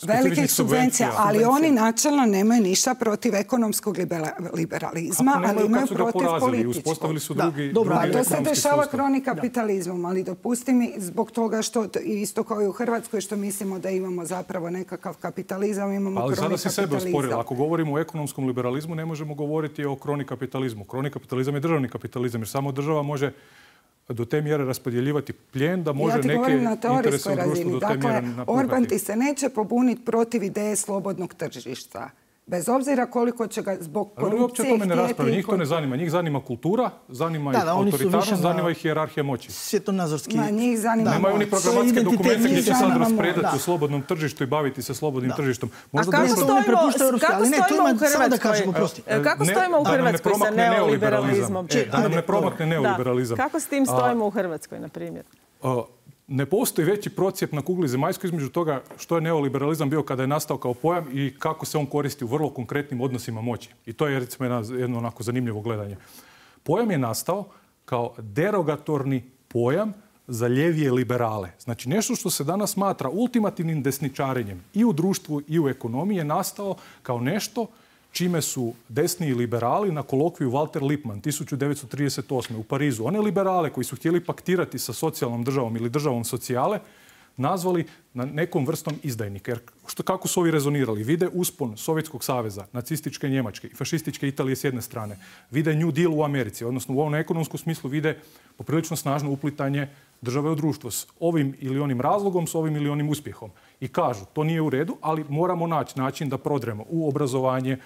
velikih subvencija, ali oni načelno nemaju ništa protiv ekonomskog liberalizma, ali imaju protiv političkog. Uspostavili su drugi to se dešava kroni kapitalizmom, ali dopusti mi zbog toga što isto kao i u Hrvatskoj što mislimo da imamo zapravo nekakav kapitalizam, imamo kroni kapitalizam. Ali sada si sebe osporila. Ako govorimo o ekonomskom liberalizmu, ne možemo govoriti o kroni kapitalizmu. Kroni kapitalizam je državni kapitalizam, jer samo država može do te mjere raspodjeljivati plijen da može neke interese u društvu do te mjere napukati. Orban ti se neće pobuniti protiv ideje slobodnog tržišta. Bez obzira koliko će ga zbog korupcije uopće o tome ne raspravljaju. Njih to ne zanima. Njih zanima kultura, zanima ih autoritarnost, zanima ih hijerarhija moći. Svjetonazorski. Nemaju ni programatske dokumente gdje će sad raspredati u slobodnom tržištu i baviti se slobodnim tržištom. A kako stojimo u Hrvatskoj sa neoliberalizmom? Da nam ne promakne neoliberalizam. Kako s tim stojimo u Hrvatskoj, na primjer? Ne postoji veći procjep na kugli zemaljskoj između toga što je neoliberalizam bio kada je nastao kao pojam i kako se on koristi u vrlo konkretnim odnosima moći. I to je recimo jedno onako zanimljivo gledanje. Pojam je nastao kao derogatorni pojam za ljevije liberale. Znači nešto što se danas smatra ultimativnim desničarenjem i u društvu i u ekonomiji je nastao kao nešto čime su desni liberali na kolokviju Walter Lippmann 1938. u Parizu, one liberale koji su htjeli paktirati sa socijalnom državom ili državom socijale, nazvali na nekom vrstom izdajnika. Jer kako su ovi rezonirali? Vide uspon Sovjetskog saveza, nacističke Njemačke i fašističke Italije s jedne strane. Vide New Deal u Americi, odnosno u ovom ekonomskom smislu vide poprilično snažno uplitanje države u društvo s ovim ili onim razlogom, s ovim ili onim uspjehom. I kažu, to nije u redu, ali moramo naći način da prodremo u obrazovanje,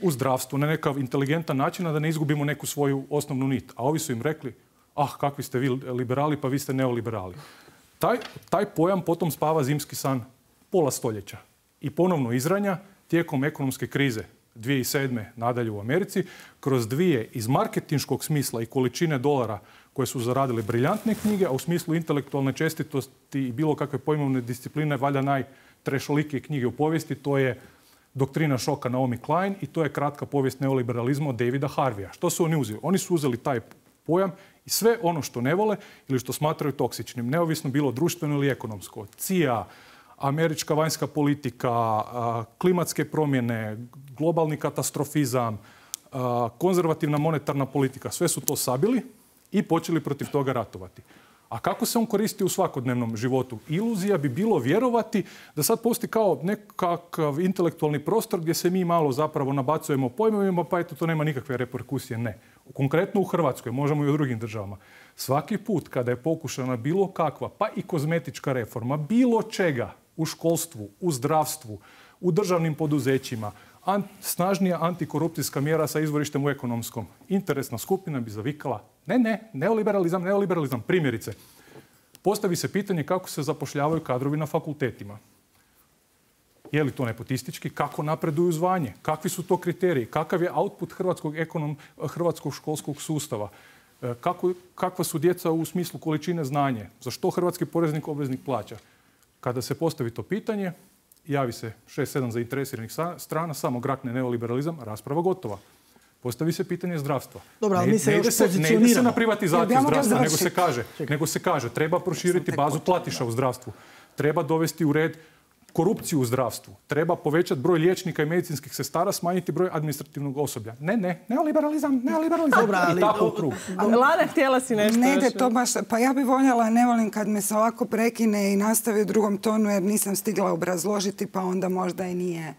u zdravstvu, na nekav inteligentan način, a da ne izgubimo neku svoju osnovnu nit. A ovi su im rekli, kakvi ste vi liberali, pa vi ste neoliberali. Taj pojam potom spava zimski san pola stoljeća i ponovno izranja tijekom ekonomske krize 2007. nadalje u Americi, kroz dvije iz marketinškog smisla i količine dolara koje su zaradile briljantne knjige, a u smislu intelektualne čestitosti i bilo kakve pojmovne discipline, valjda najtrešolikije knjige u povijesti, to je Doktrina šoka Naomi Klein i to je kratka povijest neoliberalizma od Davida Harveya. Što su oni uzeli? Oni su uzeli taj pojam i sve ono što ne vole ili što smatraju toksičnim, neovisno bilo društveno ili ekonomsko. CIA, američka vanjska politika, klimatske promjene, globalni katastrofizam, konzervativna monetarna politika, sve su to sabili i počeli protiv toga ratovati. A kako se on koristi u svakodnevnom životu? Iluzija bi bilo vjerovati da sad postoji kao nekakav intelektualni prostor gdje se mi malo zapravo nabacujemo pojmovima, pa eto to nema nikakve reperkusije. Ne. Konkretno u Hrvatskoj, možemo i u drugim državama. Svaki put kada je pokušana bilo kakva, pa i kozmetička reforma, bilo čega u školstvu, u zdravstvu, u državnim poduzećima, snažnija antikorupcijska mjera sa izvorištem u ekonomskom. Interesna skupina bi zavikala neoliberalizam. Je li to nepotistički? Kako napreduju zvanje? Kakvi su to kriteriji? Kakav je output hrvatskog školskog sustava? Kakva su djeca u smislu količine znanja? Za što hrvatski poreznik obveznik plaća? Kada se postavi to pitanje, javi se 6-7 zainteresiranih strana, samo grakne neoliberalizam, rasprava gotova. Postavi se pitanje zdravstva. Dobro, ali mi se još ne ide se na privatizaciju zdravstva, nego se kaže treba proširiti bazu platiša u zdravstvu. Treba dovesti u red korupciju u zdravstvu. Treba povećati broj liječnika i medicinskih sestara, smanjiti broj administrativnog osoblja. Neoliberalizam. I tako u krug. Lana, htjela si nešto. Ne ide to baš. Pa ja bih voljela, ne volim kad me se ovako prekine i nastavi u drugom tonu jer nisam stigla obrazložiti pa onda možda i nije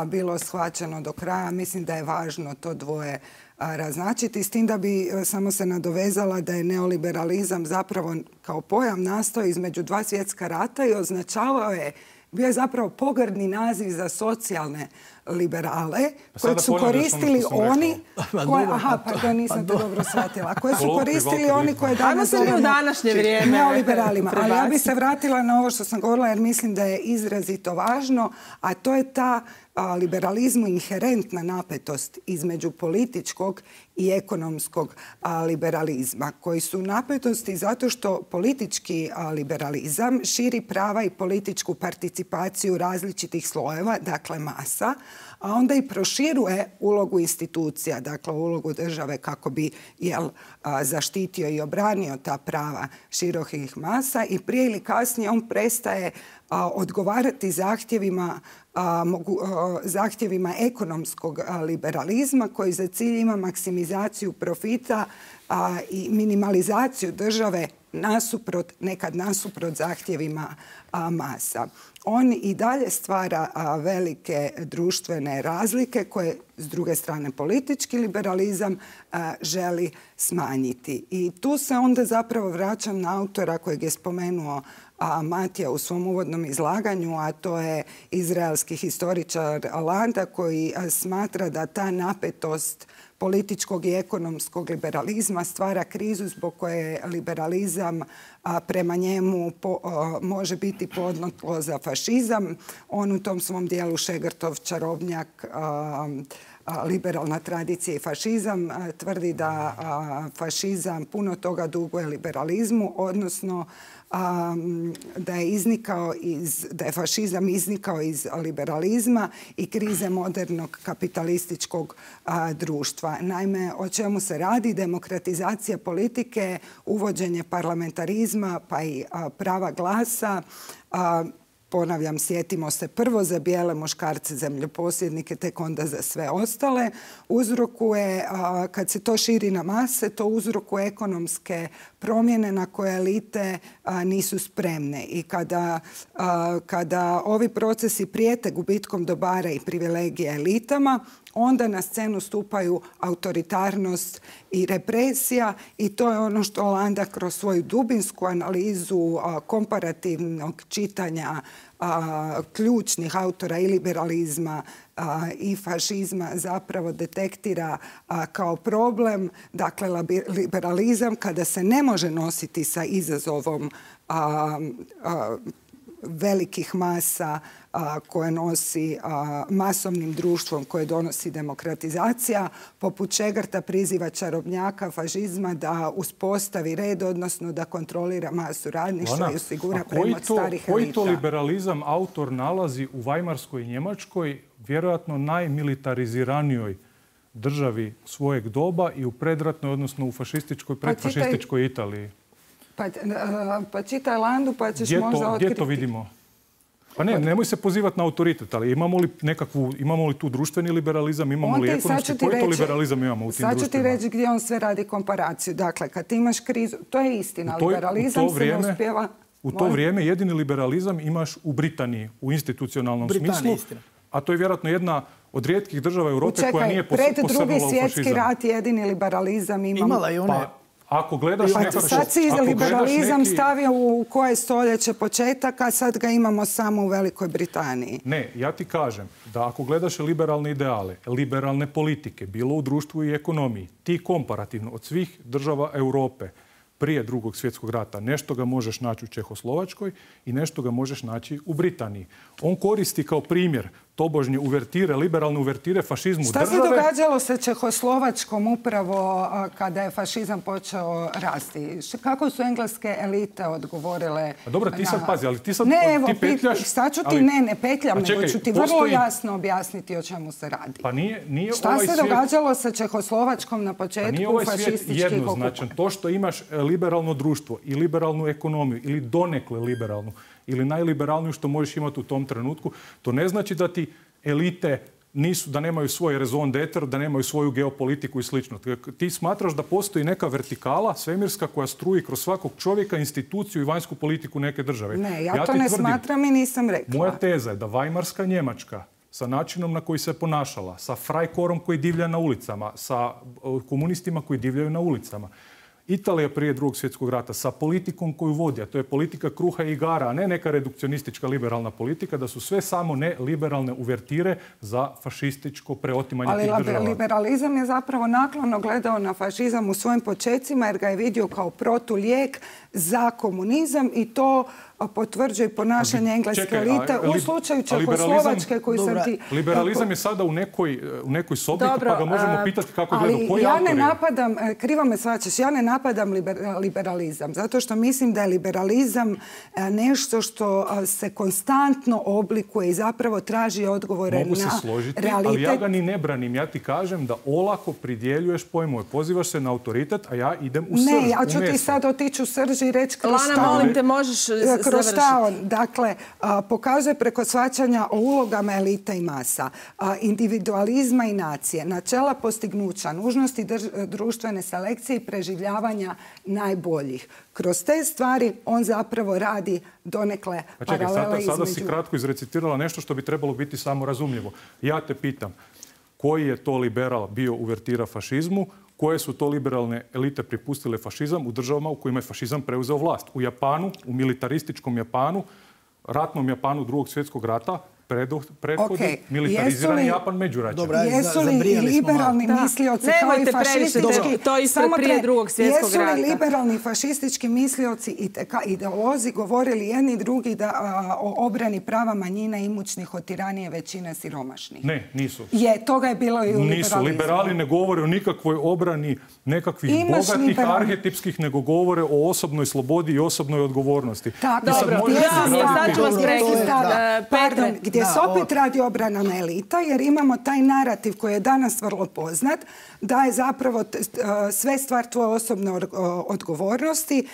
bilo shvaćeno do kraja. Mislim da je važno to dvoje raznačiti. S tim da bi samo se nadovezala da je neoliberalizam zapravo kao pojam nastao između 2 svjetska rata i označavao je, bio je zapravo pogrdni naziv za socijalne liberale kojeg su koristili oni nisam to dobro shvatila. Koje su koristili oni koje danas zovemo neoliberalima. Ali ja bih se vratila na ovo što sam govorila jer mislim da je izrazito važno, a to je ta liberalizmu inherentna napetost između političkog i ekonomskog liberalizma, koji su napetosti zato što politički liberalizam širi prava i političku participaciju različitih slojeva, dakle masa, a onda i proširuje ulogu institucija, dakle ulogu države kako bi zaštitio i obranio ta prava širokih masa i prije ili kasnije on prestaje odgovarati zahtjevima ekonomskog liberalizma koji za cilj ima maksimizaciju profita i minimalizaciju države nekad nasuprot zahtjevima masa. On i dalje stvara velike društvene razlike koje s druge strane politički liberalizam želi smanjiti. I tu se onda zapravo vraćam na autora kojeg je spomenuo Matija u svom uvodnom izlaganju, a to je izraelski historičar Landa koji smatra da ta napetost političkog i ekonomskog liberalizma stvara krizu zbog koje liberalizam prema njemu može biti plodno tlo za fašizam. On u tom svom dijelu Šegrtov čarobnjak liberalna tradicija i fašizam tvrdi da fašizam puno toga duguje liberalizmu, odnosno da je fašizam iznikao iz liberalizma i krize modernog kapitalističkog društva. Naime, o čemu se radi? Demokratizacija politike, uvođenje parlamentarizma pa i prava glasa, ponavljam, sjetimo se prvo za bijele muškarce zemljoposjednike, tek onda za sve ostale. Uzrokuje, kad se to širi na mase, to uzrokuje ekonomske promjene na koje elite nisu spremne. I kada ovi procesi prijete gubitkom dobara i privilegije elitama, onda na scenu stupaju autoritarnost i represija i to je ono što Landa kroz svoju dubinsku analizu komparativnog čitanja ključnih autora i liberalizma i fašizma zapravo detektira kao problem. Dakle, liberalizam kada se ne može nositi sa izazovom velikih masa koje nosi masovnim društvom koje donosi demokratizacija, poput Šegrta priziva čarobnjaka fašizma da uspostavi red, odnosno da kontrolira masu radništva i osigura premot starih elita. Koji to liberalizam autor nalazi u Vajmarskoj Njemačkoj, vjerojatno najmilitariziranijoj državi svojeg doba i u predratnoj, odnosno u fašističkoj, predfašističkoj Italiji? Pa čitaj Landu pa ćeš možda otkriti. Gdje to vidimo? Pa nemoj se pozivati na autoritet, ali imamo li tu društveni liberalizam, imamo li ekonomski, koji to liberalizam imamo u tim društvima? Sad ću ti reći gdje on sve radi komparaciju. Dakle, kad imaš krizu, to je istina, liberalizam se ne uspijeva. U to vrijeme jedini liberalizam imaš u Britaniji, u institucionalnom smislu, a to je vjerojatno jedna od rijetkih država Europe koja nije posebno u fašizam. Pred Drugi svjetski rat jedini liberalizam imala i one. Ako gledaš sad si liberalizam stavio u koje stoljeće početak, a sad ga imamo samo u Velikoj Britaniji. Ne, ja ti kažem da ako gledaš liberalne ideale, liberalne politike, bilo u društvu i ekonomiji, ti komparativno od svih država Europe prije Drugog svjetskog rata. Nešto ga možeš naći u Čehoslovačkoj i nešto ga možeš naći u Britaniji. On koristi kao primjer tobožnje uvertire, liberalne uvertire fašizmu države. Šta se događalo sa Čehoslovačkom upravo kada je fašizam počeo rasti? Kako su engleske elite odgovorile? Dobro, ti sad pazi, ali ti sad petljaš. Sad ću ti ne petljam, nego ću ti vrlo jasno objasniti o čemu se radi. Pa nije šta se događalo sa Čehoslovačkom na početku fašističkih jednoznačan. To što imaš liberalno društvo i liberalnu ekonomiju ili donekle liberalnu ili najliberalniju što možeš imati u tom trenutku, to ne znači da ti elite da nemaju svoj raison d'etre, da nemaju svoju geopolitiku i slično. Ti smatraš da postoji neka vertikala svemirska koja struji kroz svakog čovjeka, instituciju i vanjsku politiku neke države. Ne, ja to ne smatram i nisam rekla. Moja teza je da Vajmarska Njemačka sa načinom na koji se ponašala, sa Freikorpom koji divlja na ulicama, sa komunistima koji divljaju na ulicama, Italija prije Drugog svjetskog rata sa politikom koju vodi, a to je politika kruha i igara, a ne neka redukcionistička liberalna politika, da su sve samo ne liberalne uvertire za fašističko preotimanje tih država. Ali liberalizam je zapravo naklono gledao na fašizam u svojim počecima jer ga je vidio kao protulijek za komunizam i to potvrđuje ponašanje engleske elite u slučaju Čehoslovačke koji sam ti... Liberalizam je sada u nekoj sobi, pa ga možemo pitati kako gleda. Ali ja ne napadam, krivo me shvaćaš, ja ne napadam liberalizam, zato što mislim da je liberalizam nešto što se konstantno oblikuje i zapravo traži odgovore na realitet. Mogu se složiti, ali ja ga ni ne branim. Ja ti kažem da olako pridjeljuješ pojmove. Pozivaš se na autoritet, a ja idem u srž. Ne, ja ću ti sad otići u srž i reći kroz šta. Lana, molim te, možeš kroz šta on, dakle, pokazuje preko shvaćanja o ulogama elite i masa, individualizma i nacije, načela postignuća, nužnosti društvene selekcije i preživljavanja najboljih. Kroz te stvari on zapravo radi donekle paralela između... Sada si kratko izrecitirala nešto što bi trebalo biti samorazumljivo. Ja te pitam, koji je to liberal bio uvertira fašizmu, koje su to liberalne elite pripustile fašizam u državama u kojima je fašizam preuzeo vlast. U Japanu, u militarističkom Japanu, ratnom Japanu Drugog svjetskog rata, prethodi militarizirani Japan međuraćan. Jesu li liberalni mislioci kao i fašistički... To ispred prije Drugog svjetskog rata. Jesu li liberalni fašistički mislioci i ideolozi govorili jedni drugi o obrani prava manjina i imućnih od tiranije većine siromašnih? Ne, nisu. Toga je bilo i u liberalizmu. Nisu. Liberali ne govore o nikakvoj obrani nekakvih bogatih arhetipskih, nego govore o osobnoj slobodi i osobnoj odgovornosti. Dobro, sad ću vas prekidati. Gdje se opet radi obranama elita, jer imamo taj narativ koji je danas vrlo poznat, da je zapravo sve stvar tvoje osobne odgovornosti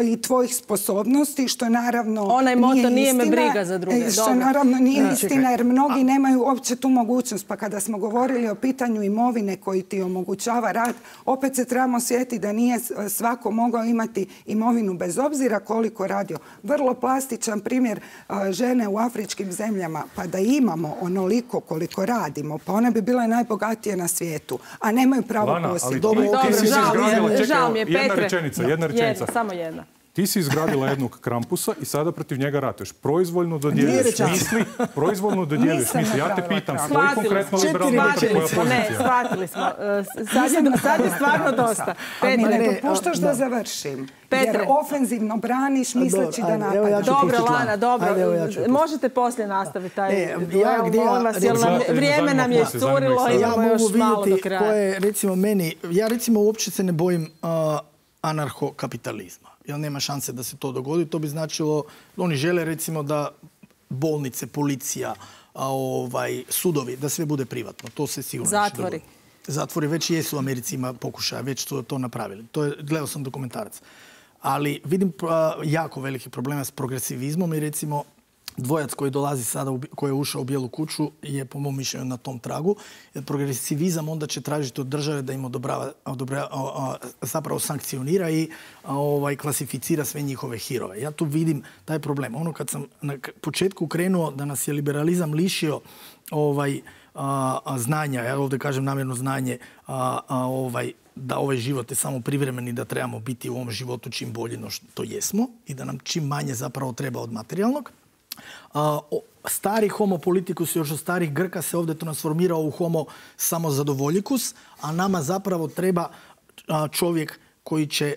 i tvojih sposobnosti, što naravno onaj moto nije me briga za druge. Što naravno nije istina, jer mnogi nemaju uopće tu mogućnost. Pa kada smo govorili o pitanju imovine koji ti omogućava rad, opet se trebamo sjetiti da nije svako mogao imati imovinu bez obzira koliko radio. Vrlo plastičan primjer žene u afričkim zemljama, pa da imamo onoliko koliko radimo, pa one bi bile najbogatije na svijetu, a nemaju pravo posjed. Dobro, žao mi je, Petre. Jedna rečenica. Samo jedna. Ti si izgradila jednog Krampusa i sada protiv njega ratuješ. Proizvoljno dodjeljuješ misli. Ja te pitam, koji konkretno liberalna koja pozicija? Ne, shvatili smo. Sad je stvarno dosta. A mi ne popuštaš da završim. Jer ofenzivno braniš misleći da napadaš. Dobro, Lana, dobro. Možete poslije nastaviti taj duel, vrijeme nam je iscurilo, imamo još malo do kraja. Koje, recimo, meni, ja recimo uopće se ne bojim anarhokapitalizma. Jer nema šanse da se to dogodi. To bi značilo, oni žele recimo da bolnice, policija, sudovi, da sve bude privatno. To se sigurno zatvori. Zatvori već jesu u Americi, ima pokušaja, već su to napravili. Gledao sam dokumentarac. Ali vidim jako veliki problema s progresivizmom i recimo dvojac koji dolazi sada, koji je ušao u Bijelu kuću, je po mom mišljenju na tom tragu. Jer progresivizam onda će tražiti od države da im zapravo sankcionira i klasificira sve njihove hirove. Ja tu vidim taj problem. Ono kad sam na početku krenuo da nas je liberalizam lišio znanja, ja ovdje kažem namjerno znanje, da ovaj život je samo privremeni, da trebamo biti u ovom životu čim bolji no što jesmo i da nam čim manje zapravo treba od materijalnog. Stari homo politikus još od starih Grka se ovdje transformirao u homo samozadovoljikus, a nama zapravo treba čovjek koji će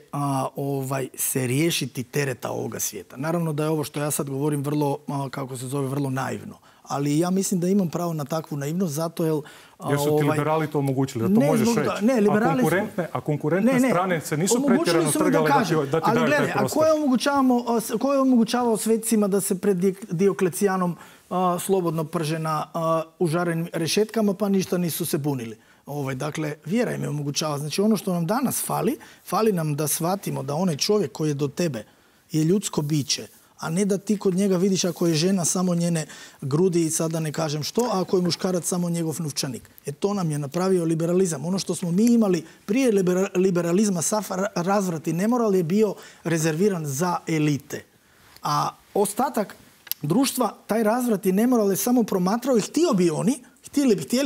se riješiti tereta ovoga svijeta. Naravno da je ovo što ja sad govorim vrlo, vrlo naivno. Ali ja mislim da imam pravo na takvu naivnost zato jer... Jer su ti liberali to omogućili, da to možeš reći. Ne, liberali a konkurentne strane se nisu pretjerano trgale da ti daju taj prostor. A ko je omogućavao sveticima da se pred Dioklecijanom slobodno prže na užarenim rešetkama pa ništa nisu se bunili? Dakle, vjera im je omogućava. Znači, ono što nam danas fali nam da shvatimo da onaj čovjek koji je do tebe je ljudsko biće, a ne da ti kod njega vidiš ako je žena samo njene grudi i sada ne kažem što, a ako je muškarac samo njegov novčanik. To nam je napravio liberalizam. Ono što smo mi imali prije liberalizma, sav razvrat i nemoral je bio rezerviran za elite. A ostatak društva, taj razvrat i nemoral je samo promatrao i htjeli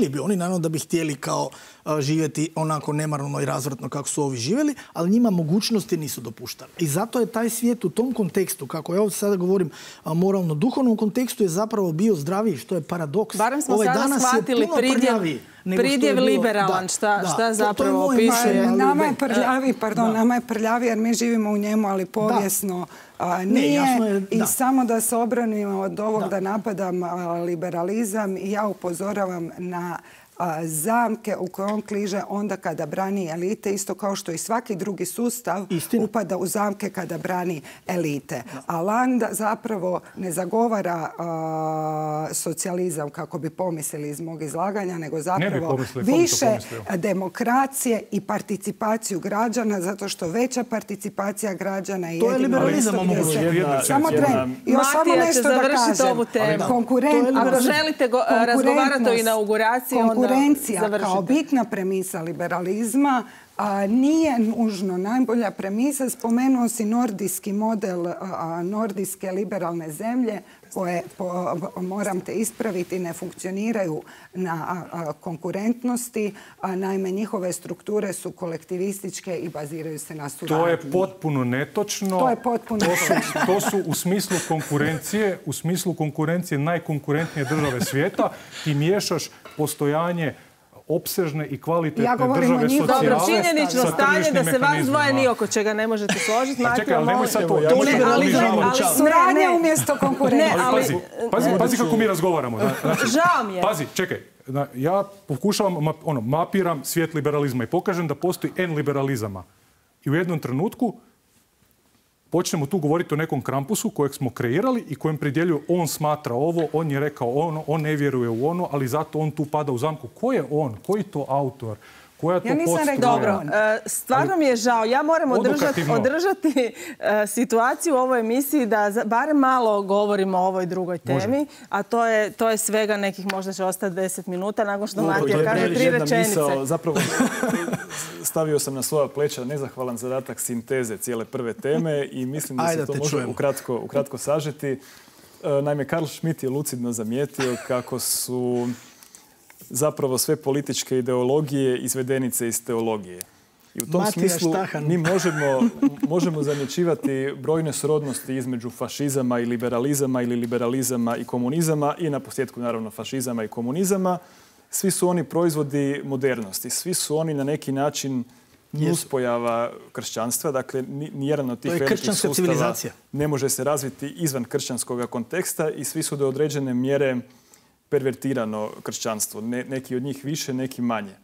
bi oni, naravno da bi htjeli kao živjeti onako nemarno i razvratno kako su ovi živjeli, ali njima mogućnosti nisu dopuštali. I zato je taj svijet u tom kontekstu, kako ja ovdje sada govorim moralno-duhovnom kontekstu, je zapravo bio zdraviji, što je paradoks. Barem smo sada shvatili pridjev liberalan, šta zapravo opisuje. Nama je prljavi jer mi živimo u njemu, ali povijesno nije. I samo da se obranimo od ovog da napadam liberalizam, i ja upozoravam na zamke u koje on kliže onda kada brani elite, isto kao što i svaki drugi sustav upada u zamke kada brani elite. A Landa zapravo ne zagovara socijalizam kako bi pomislili iz mog izlaganja, nego zapravo više demokracije i participaciju građana, zato što veća participacija građana je jedino... To je liberalizam omogućuje. Samo tren. Još samo nešto da kažem. Ako želite razgovarati o inauguraciji, onda konkurencija kao bitna premisa liberalizma nije nužno najbolja premisa. Spomenuo si nordijski model, nordijske liberalne zemlje koje, moram te ispraviti, ne funkcioniraju na konkurentnosti. Naime, njihove strukture su kolektivističke i baziraju se na suradnji. To je potpuno netočno. To su u smislu konkurencije najkonkurentnije države svijeta. Ti miješaš postojanje opsežne i kvalitetne države socijale. Dobro, činjenično stanje da se vas dvoje ni oko čega ne možete složiti. Čekaj, ali nemoj sad to. Suradnja umjesto konkurencije. Pazi kako mi razgovaramo. Žao mi je. Pazi, čekaj. Ja pokušavam, mapiram svijet liberalizma i pokažem da postoji N liberalizama. I u jednom trenutku počnemo tu govoriti o nekom krampusu kojeg smo kreirali i kojem pridjeljuju on smatra ovo, on je rekao ono, on ne vjeruje u ono, ali zato on tu pada u zamku. Ko je on? Koji to autor? Koja to podstruja? Dobro, stvarno mi je žao. Ja moram održati situaciju u ovoj emisiji da barem malo govorimo o ovoj drugoj temi, a to je svega nekih, možda će ostati 10 minuta nakon što Matija kaže 3 rečenice. Zapravo stavio sam na svoja pleća nezahvalan zadatak sinteze cijele prve teme i mislim da se to može ukratko sažeti. Naime, Karl Schmitt je lucidno zamijetio kako su zapravo sve političke ideologije izvedenice iz teologije. I u tom smislu mi možemo zamjećivati brojne srodnosti između fašizama i liberalizama ili liberalizama i komunizama i na posljedku naravno fašizama i komunizama. Svi su oni proizvodi modernosti. Svi su oni na neki način nuspojava kršćanstva. Dakle, nijedan od tih velikih sustava ne može se razviti izvan kršćanskog konteksta i svi su do određene mjere pervertirano kršćanstvo. Neki od njih više, neki manje.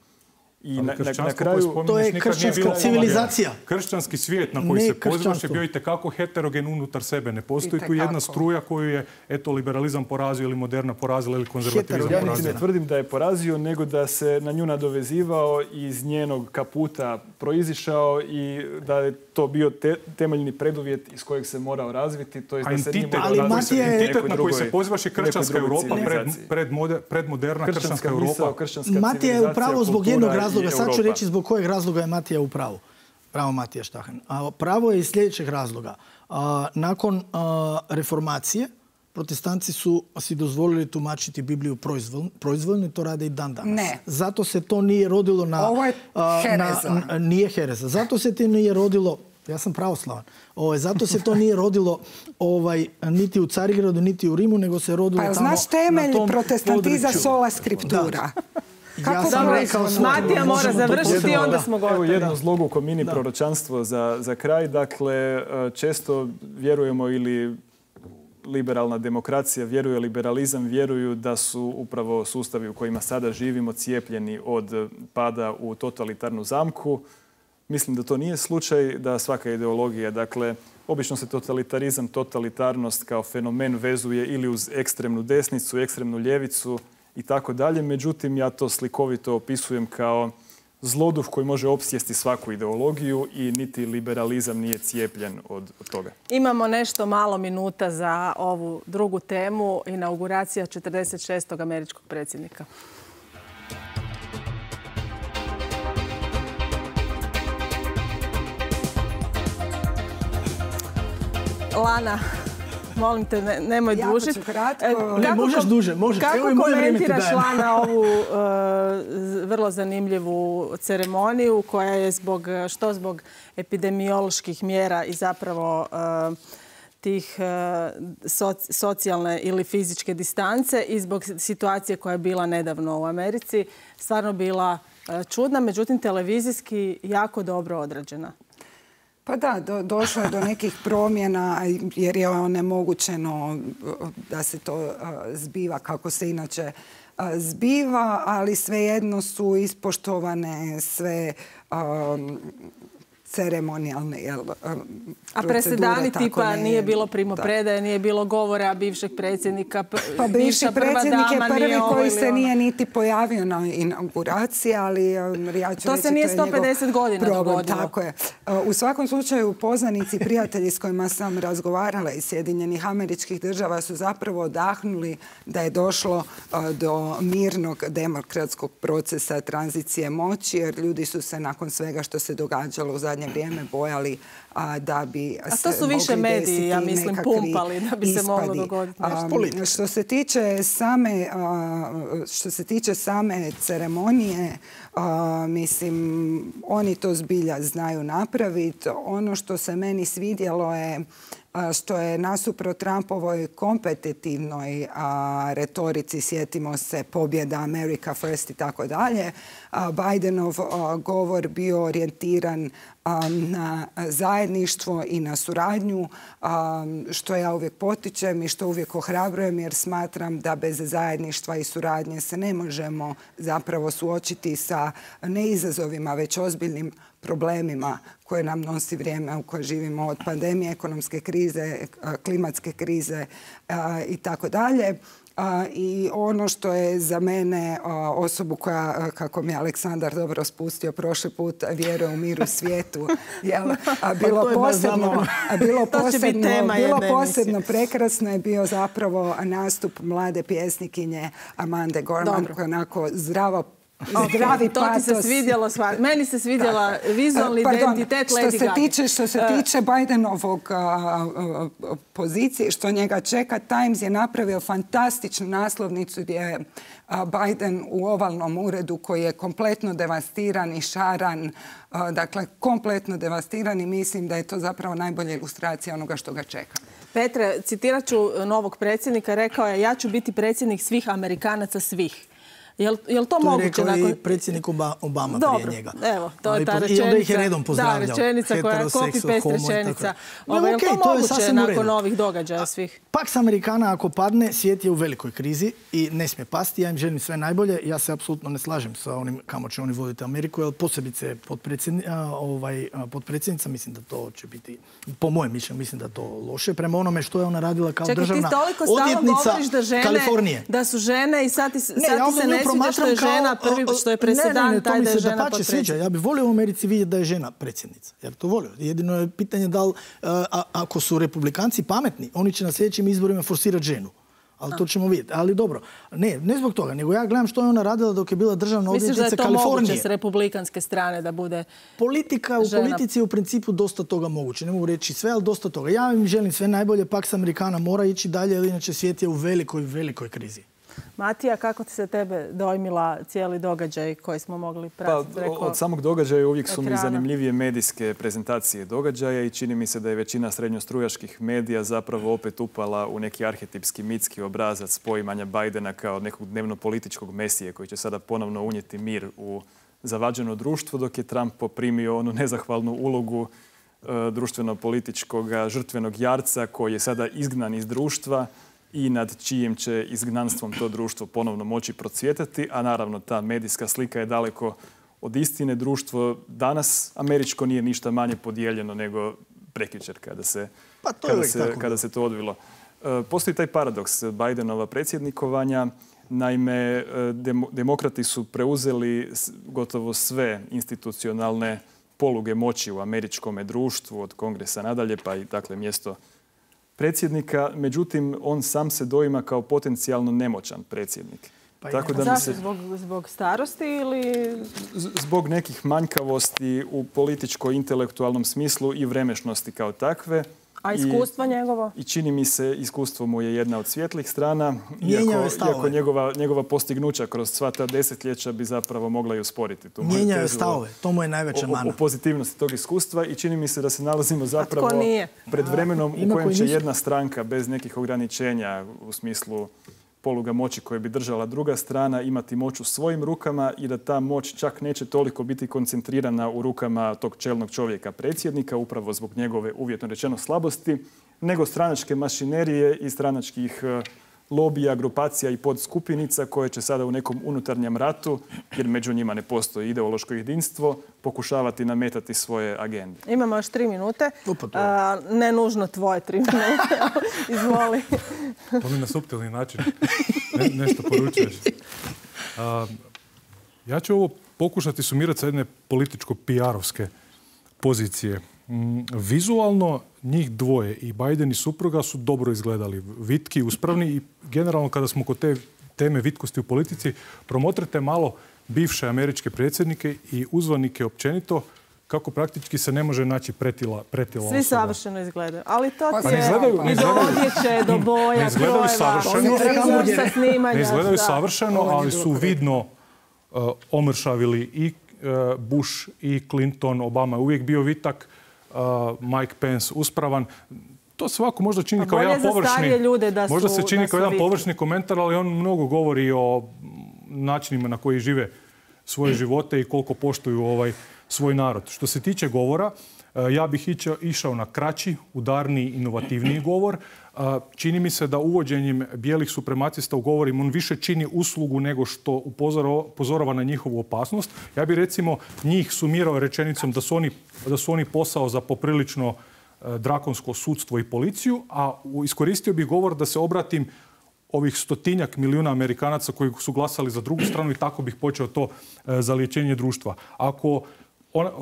I na kraju... To je kršćanska civilizacija. Kršćanski svijet na koji se pozivaš je bio itekako heterogen unutar sebe. Ne postoji tu jedna struja koju je liberalizam porazio ili moderna porazila ili konzervativizam porazio. Ja niti ne tvrdim da je porazio, nego da se na nju nadovezivao i iz njenog kaputa proizišao i da je to bio temeljni preduvjet iz kojeg se morao razviti. To je da se nije morao razviti. Entitet na koji se pozivaš je kršćanska Europa, predmoderna kršćanska Europa. Matija je upravo zbog jednog razloga. Sad ću reći zbog kojeg razloga je Matija u pravu. Pravo Matija Štahan. Pravo je iz sljedećeg razloga. Nakon reformacije, protestanci su si dozvolili tumačiti Bibliju proizvoljno i to rade i dan danas. Ne. Zato se to nije rodilo na... Ovo je hereza. Nije hereza. Zato se to nije rodilo... Ja sam pravoslavan. Zato se to nije rodilo niti u Carigradu, niti u Rimu, nego se rodilo tamo... Pa znaš temelj protestantiza sola scriptura? Ja sam rekao... Matija mora završiti i onda smo gotovi. Evo jedno zloguko mini proročanstvo za kraj. Dakle, često vjerujemo ili liberalna demokracija vjeruje, liberalizam vjeruju da su upravo sustavi u kojima sada živimo cijepljeni od pada u totalitarnu zamku. Mislim da to nije slučaj, da svaka ideologija, dakle, obično se totalitarizam, totalitarnost kao fenomen vezuje ili uz ekstremnu desnicu, ekstremnu ljevicu i tako dalje. Međutim, ja to slikovito opisujem kao zloduh koji može opsjesti svaku ideologiju i niti liberalizam nije cijepljen od toga. Imamo nešto malo minuta za ovu drugu temu, inauguracija 46. američkog predsjednika. Lana, molim te, nemoj dužiti. Jako ću kratko. Ne, možeš duže, možeš. Kako komentiraš, Lana, ovu vrlo zanimljivu ceremoniju koja je zbog epidemioloških mjera i zapravo tih socijalne ili fizičke distance i zbog situacije koja je bila nedavno u Americi stvarno bila čudna, međutim televizijski jako dobro odrađena. Pa da, došlo je do nekih promjena jer je onemogućeno da se to zbiva kako se inače zbiva, ali svejedno su ispoštovane sve ceremonijalne procedure. A presedani tipa nije bilo primopredaje, nije bilo govora bivšeg predsjednika, pa bivši predsjednik je prvi koji se nije niti pojavio na inauguraciji, ali ja ću to reći se nije 150 godina dogodilo. Tako je. U svakom slučaju poznanici, prijatelji s kojima sam razgovarala iz Sjedinjenih Američkih Država su zapravo odahnuli da je došlo do mirnog demokratskog procesa tranzicije moći, jer ljudi su se nakon svega što se događalo u zadnje vrijeme bojali da bi se to su više mediji, ja mislim, pumpali da bi se moglo dogoditi nešto. Što se tiče same ceremonije, mislim, oni to zbilja znaju napraviti. Ono što se meni svidjelo je što je nasuprot Trumpovoj kompetitivnoj retorici, sjetimo se pobjeda America First i tako dalje, Bidenov govor bio orijentiran na zajedništvo i na suradnju, što ja uvijek potičem i što uvijek ohrabrujem, jer smatram da bez zajedništva i suradnje se ne možemo zapravo suočiti sa ne izazovima, već ozbiljnim problemima koje nam nosi vrijeme u kojem živimo, od pandemije, ekonomske krize, klimatske krize i tako dalje. I ono što je za mene osobu koja, kako mi je Aleksandar dobro spustio prošli put, vjeruje u mir u svijetu, bilo posebno prekrasno je bio zapravo nastup mlade pjesnikinje Amande Gorman, koja onako zdravi to patos. ti se svidjelo, meni se svidjela vizualni identitet Lady Gaga. Što se tiče Bidenovog pozicije, što njega čeka, Times je napravio fantastičnu naslovnicu gdje je Biden u ovalnom uredu koji je kompletno devastiran i šaran, dakle kompletno devastiran, i mislim da je to zapravo najbolja ilustracija onoga što ga čeka. Petre, citirat ću novog predsjednika, rekao je: ja ću biti predsjednik svih Amerikanaca, svih. Je li to moguće? To je rekao i predsjednik Obama prije njega. Evo, to je ta rečenica. I onda ih je redom pozdravljao. Da, rečenica koja je copy-paste rečenica. Je li to moguće nakon ovih događaja svih? Paks Amerikana ako padne, svijet je u velikoj krizi i ne smije pasti. Ja im želim sve najbolje. Ja se apsolutno ne slažem sa onim kamo će oni voditi Ameriku, jer posebice potpredsjednica, mislim da to će biti, po mojem mišljenju, mislim da to loše. Prema onome što je ona radila kao državna odvjetnica Kalifornije. Da su žene i sad ti se ne sviđa što je žena prvi, što je presedan taj da je žena potpredsjednica. Ja bih volio u Americi vidjeti da je žena predsjednica. Ja bih to volio. Jedino je pitanje da li, ako su republikanci pametni, oni će na sljedećim izborima forsirati ženu. Ali to ćemo vidjeti. Ali dobro, ne zbog toga, nego ja gledam što je ona radila dok je bila državna odvjetnica Kalifornije. Misliš da je to moguće s republikanske strane da bude politika? U politici je u principu dosta toga moguće. Ne mogu reći sve, ali dosta toga. Ja im želim sve najbolje. Paks Amerikana mora ići dalje, jer inače svijet je u velikoj, velikoj krizi. Matija, kako ti se tebe dojmila cijeli događaj koji smo mogli pratiti preko od samog događaja uvijek su mi ekrana? zanimljivije medijske prezentacije događaja i čini mi se da je većina srednjostrujačkih medija zapravo opet upala u neki arhetipski mitski obrazac poimanja Bidena kao nekog dnevno-političkog mesije koji će sada ponovno unijeti mir u zavađeno društvo, dok je Trump poprimio onu nezahvalnu ulogu društveno-političkog žrtvenog jarca koji je sada izgnan iz društva i nad čijim će izgnanstvom to društvo ponovno moći procvjetati, a naravno ta medijska slika je daleko od istine. Društvo danas američko nije ništa manje podijeljeno nego prekjučer kada se to odvilo. Postoji taj paradoks Bidenova predsjednikovanja. Naime, demokrati su preuzeli gotovo sve institucionalne poluge moći u američkom društvu, od kongresa nadalje, pa i dakle mjesto predsjednika. Međutim, on sam se doima kao potencijalno nemoćan predsjednik. Zašto? Zbog starosti ili? Zbog nekih manjkavosti u političko-intelektualnom smislu i vremešnosti kao takve. A iskustvo njegovo? I čini mi se, iskustvo mu je jedna od svjetlih strana, iako njegova postignuća kroz sva ta desetljeća bi zapravo mogla i usporiti tu moju Mijenjaju stavove, to mu je najveća mana. O pozitivnosti tog iskustva i čini mi se da se nalazimo zapravo pred vremenom u kojem će jedna stranka bez nekih ograničenja u smislu poluga moći koje bi držala druga strana imati moć u svojim rukama i da ta moć čak neće toliko biti koncentrirana u rukama tog čelnog čovjeka predsjednika, upravo zbog njegove uvjetno rečeno slabosti, nego stranačke mašinerije i stranačkih lobija, grupacija i podskupinica koje će sada u nekom unutarnjem ratu, jer među njima ne postoji ideološko jedinstvo, pokušavati nametati svoje agende. Imamo još 3 minute. Ne nužno tvoje 3 minute. Izvoli. To mi na suptilni način nešto poručuješ. Ja ću ovo pokušati sumirati sa jedne političko-PR-ovske pozicije. Vizualno njih dvoje, i Biden i supruga, su dobro izgledali. Vitki, uspravni i generalno kada smo kod te teme vitkosti u politici, promotrite malo bivše američke predsjednike i uzvanike općenito, kako praktički se ne može naći pretila osoba. Svi savršeno izgledaju. Ali to ti je do odjeće, do boja, ne izgledaju savršeno. Ne izgledaju savršeno, ali su vidno omršavili i Bush i Clinton. Obama je uvijek bio vitak. Mike Pence uspravan. To se ovako možda čini kao jedan površni komentar, ali on mnogo govori o načinima na koji žive svoje živote i koliko poštuju svoj narod. Što se tiče govora, ja bih išao na kraći, udarniji, inovativniji govor. Čini mi se da uvođenjem bijelih suprematista u govorima on više čini uslugu nego što upozorava na njihovu opasnost. Ja bih recimo njih sumirao rečenicom da su oni posao za poprilično drakonsko sudstvo i policiju, a iskoristio bih govor da se obratim ovih 100-tinjak milijuna Amerikanaca koji su glasali za drugu stranu i tako bih počeo to zaliječenje društva. Ako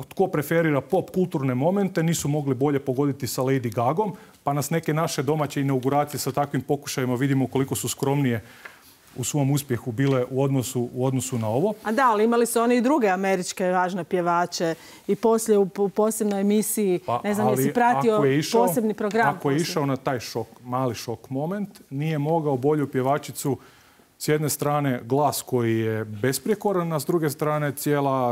tko preferira pop kulturne momente, nisu mogli bolje pogoditi sa Lady Gagom, pa nas neke naše domaće inauguracije sa takvim pokušajima vidimo koliko su skromnije u svom uspjehu bile u odnosu na ovo. A da, ali imali su oni i druge američke važne pjevače i poslije u posebnoj emisiji, ne znam jesi pratio posebni program. Ako je išao na taj mali šok moment, nije mogao bolju pjevačicu, s jedne strane glas koji je besprijekoran, a s druge strane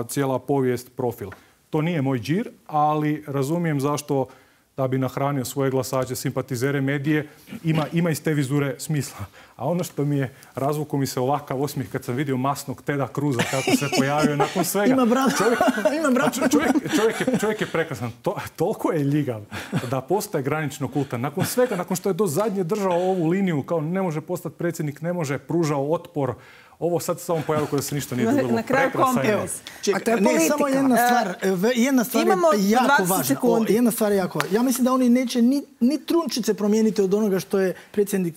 cijela povijest, profil. To nije moj džir, ali razumijem zašto, da bi nahranio svoje glasače, simpatizere medije, ima iz te vizure smisla. A ono što mi je, razvukao mi se ovakav osmijeh kad sam vidio masnog Teda Cruza kako se pojavio nakon svega. Ima brata. Čovjek je prekrasan. Toliko je ljigav da postaje granično kultan. Nakon svega, nakon što je do zadnje držao ovu liniju, kao ne može postati predsjednik, ne može, pružao otpor. Ovo sad samo pojavio kada se ništa nije dogodilo. Na kraju kompromis. A to je politika. Samo jedna stvar je jako važna. Ja mislim da oni neće ni trunčice promijeniti od onoga što je predsjednik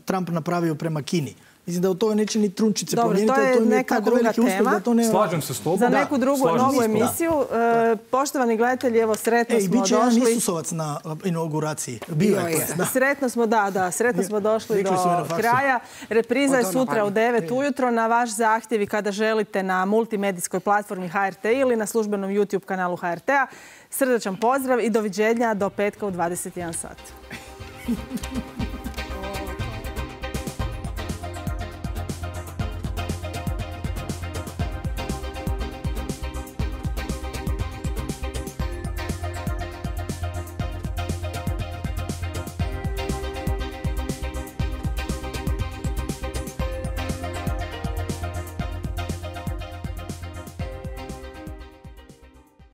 Trump napravio prema Kini. Mislim da od toga neće ni trunčice promijeniti. Dobro, to je neka druga tema. Slažem se s tobom. Za neku drugu novu emisiju. Poštovani gledatelji, evo sretno smo došli. Biće jedan Isusovac na inauguraciji. Sretno smo došli do kraja. Repriza je sutra u 9 ujutro. Na vaš zahtjev i kada želite na multimedijskoj platformi HRT ili na službenom YouTube kanalu HRT-a. Srdačan pozdrav i doviđenja do petka u 21 sat.